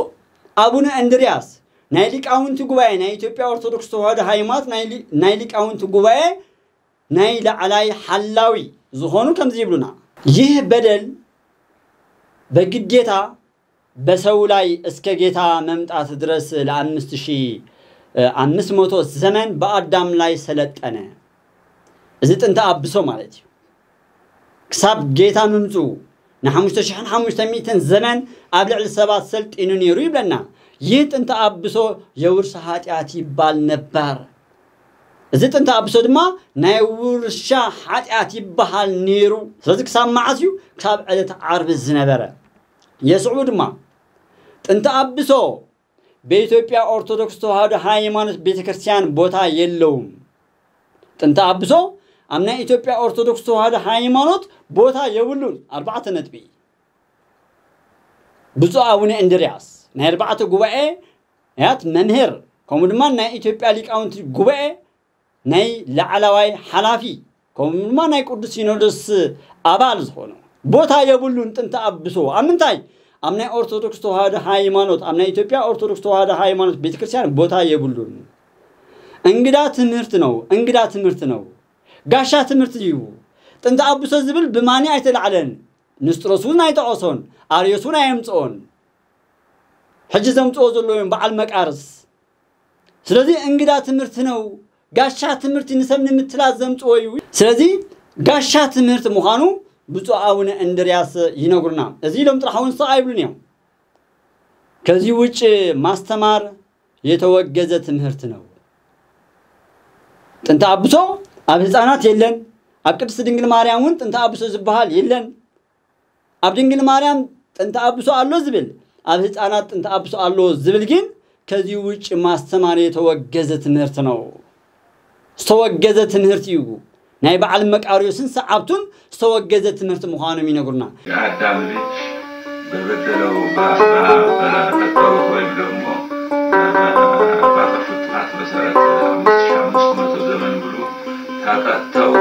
ኣቡነ እንድርያስ ናይ ሊቃውንቲ ጉባኤ ናይ ኢትዮጵያ ኦርቶዶክስ ተዋህዶ ሃይማኖት ናይ ሊ- ናይ ሊቃውንቲ ጉባኤ ናይ ላዕላይ ሓላዊ ዝኾኑ ከምዚ ይብሉና። ይህ በደል በግዴታ በሰው ላይ እስከ ጌታ መምጣት ድረስ ለአምስት ሺህ አምስት መቶ ዘመን በአዳም ላይ ሰለጠነ። እዚ ጥንተ ኣብሶ ማለት እዩ። ክሳብ ጌታ ምምፅኡ ንሓሙሽተ ሽሕን ሓሙሽተ ሚእትን ዘመን ኣብ ልዕሊ ሰባት ሰልጢኑ ነይሩ ይብለና። ይህ ጥንተ ኣብሶ የውርሻ ኃጢአት ይባል ነበር። እዚ ጥንተ ኣብሶ ድማ ናይ ውርሻ ኃጢአት ይበሃል ነይሩ። ስለዚ ክሳብ መዓስ እዩ? ክሳብ ዕለተ ዓርቢ ዝነበረ። የስዕቡ ድማ ጥንተ ኣብሶ በኢትዮጵያ ኦርቶዶክስ ተዋህዶ ሃይማኖት ቤተክርስቲያን ቦታ የለውም። ጥንተ ኣብሶ ኣብ ናይ ኢትዮጵያ ኦርቶዶክስ ተዋህዶ ሃይማኖት ቦታ የብሉን። ኣርባዕተ ነጥቢ። ብፁዕ ኣቡነ እንድርያስ ናይ ኣርባዕተ ጉባኤ ያት መምህር ከምኡ ድማ ናይ ኢትዮጵያ ሊቃውንቲ ጉባኤ ናይ ላዕላዋይ ሓላፊ ከምኡ ድማ ናይ ቅዱስ ሲኖዶስ ኣባል ዝኾኑ ቦታ የብሉን። ጥንተ ኣብሶ ኣብ ምንታይ? ኣብ ናይ ኦርቶዶክስ ተዋህዶ ሃይማኖት፣ ኣብ ናይ ኢትዮጵያ ኦርቶዶክስ ተዋህዶ ሃይማኖት ቤተክርስቲያን ቦታ የብሉን። እንግዳ ትምህርት ነው፣ እንግዳ ትምህርት ነው። ጋሻ ትምህርት እዩ። ጥንተ ኣብሶ ዝብል ብማኒ ኣይተላዕለን። ንስጥሮስ እውን ኣይጠቐሶን፣ ኣርዮስ እውን ኣየምፅኦን። ሕጂ ዘምፅኦ ዘለዉ እዮም በዓል መቃርስ። ስለዚ እንግዳ ትምህርት ነው። ጋሻ ትምህርቲ ንሰብ ንምትላል ዘምፅኦ እዩ። ስለዚ ጋሻ ትምህርት ምዃኑ ብፁዕ ኣቡነ እንድርያስ ይነግሩና። እዚ ኢሎም ጥራሕ እውን ስቕ ኣይብሉን እዮም። ከዚህ ውጭ ማስተማር የተወገዘ ትምህርት ነው። ጥንተ ኣብሶ ኣብ ህፃናት የለን። ኣብ ቅድስት ድንግል ማርያም እውን ጥንተ ኣብሶ ዝበሃል የለን። ኣብ ድንግል ማርያም ጥንተ ኣብሶ ኣሎ ዝብል፣ ኣብ ህፃናት ጥንተ ኣብሶ ኣሎ ዝብል ግን ከዚህ ውጭ ማስተማር የተወገዘ ትምህርት ነው። ዝተወገዘ ትምህርት እዩ። ናይ በዓል መቃርዮስን ሰዓብቱን ዝተወገዘ ትምህርት ምዃኖም ይነግሩና። የአዳም ልጅ በበደለው በ- በ- በቀጠሩት ወይም ደግሞ በጠፉት ጥፋት መሰረት አምስት ሺህ አምስት መቶ ዘመን ሙሉ ተቀጥተው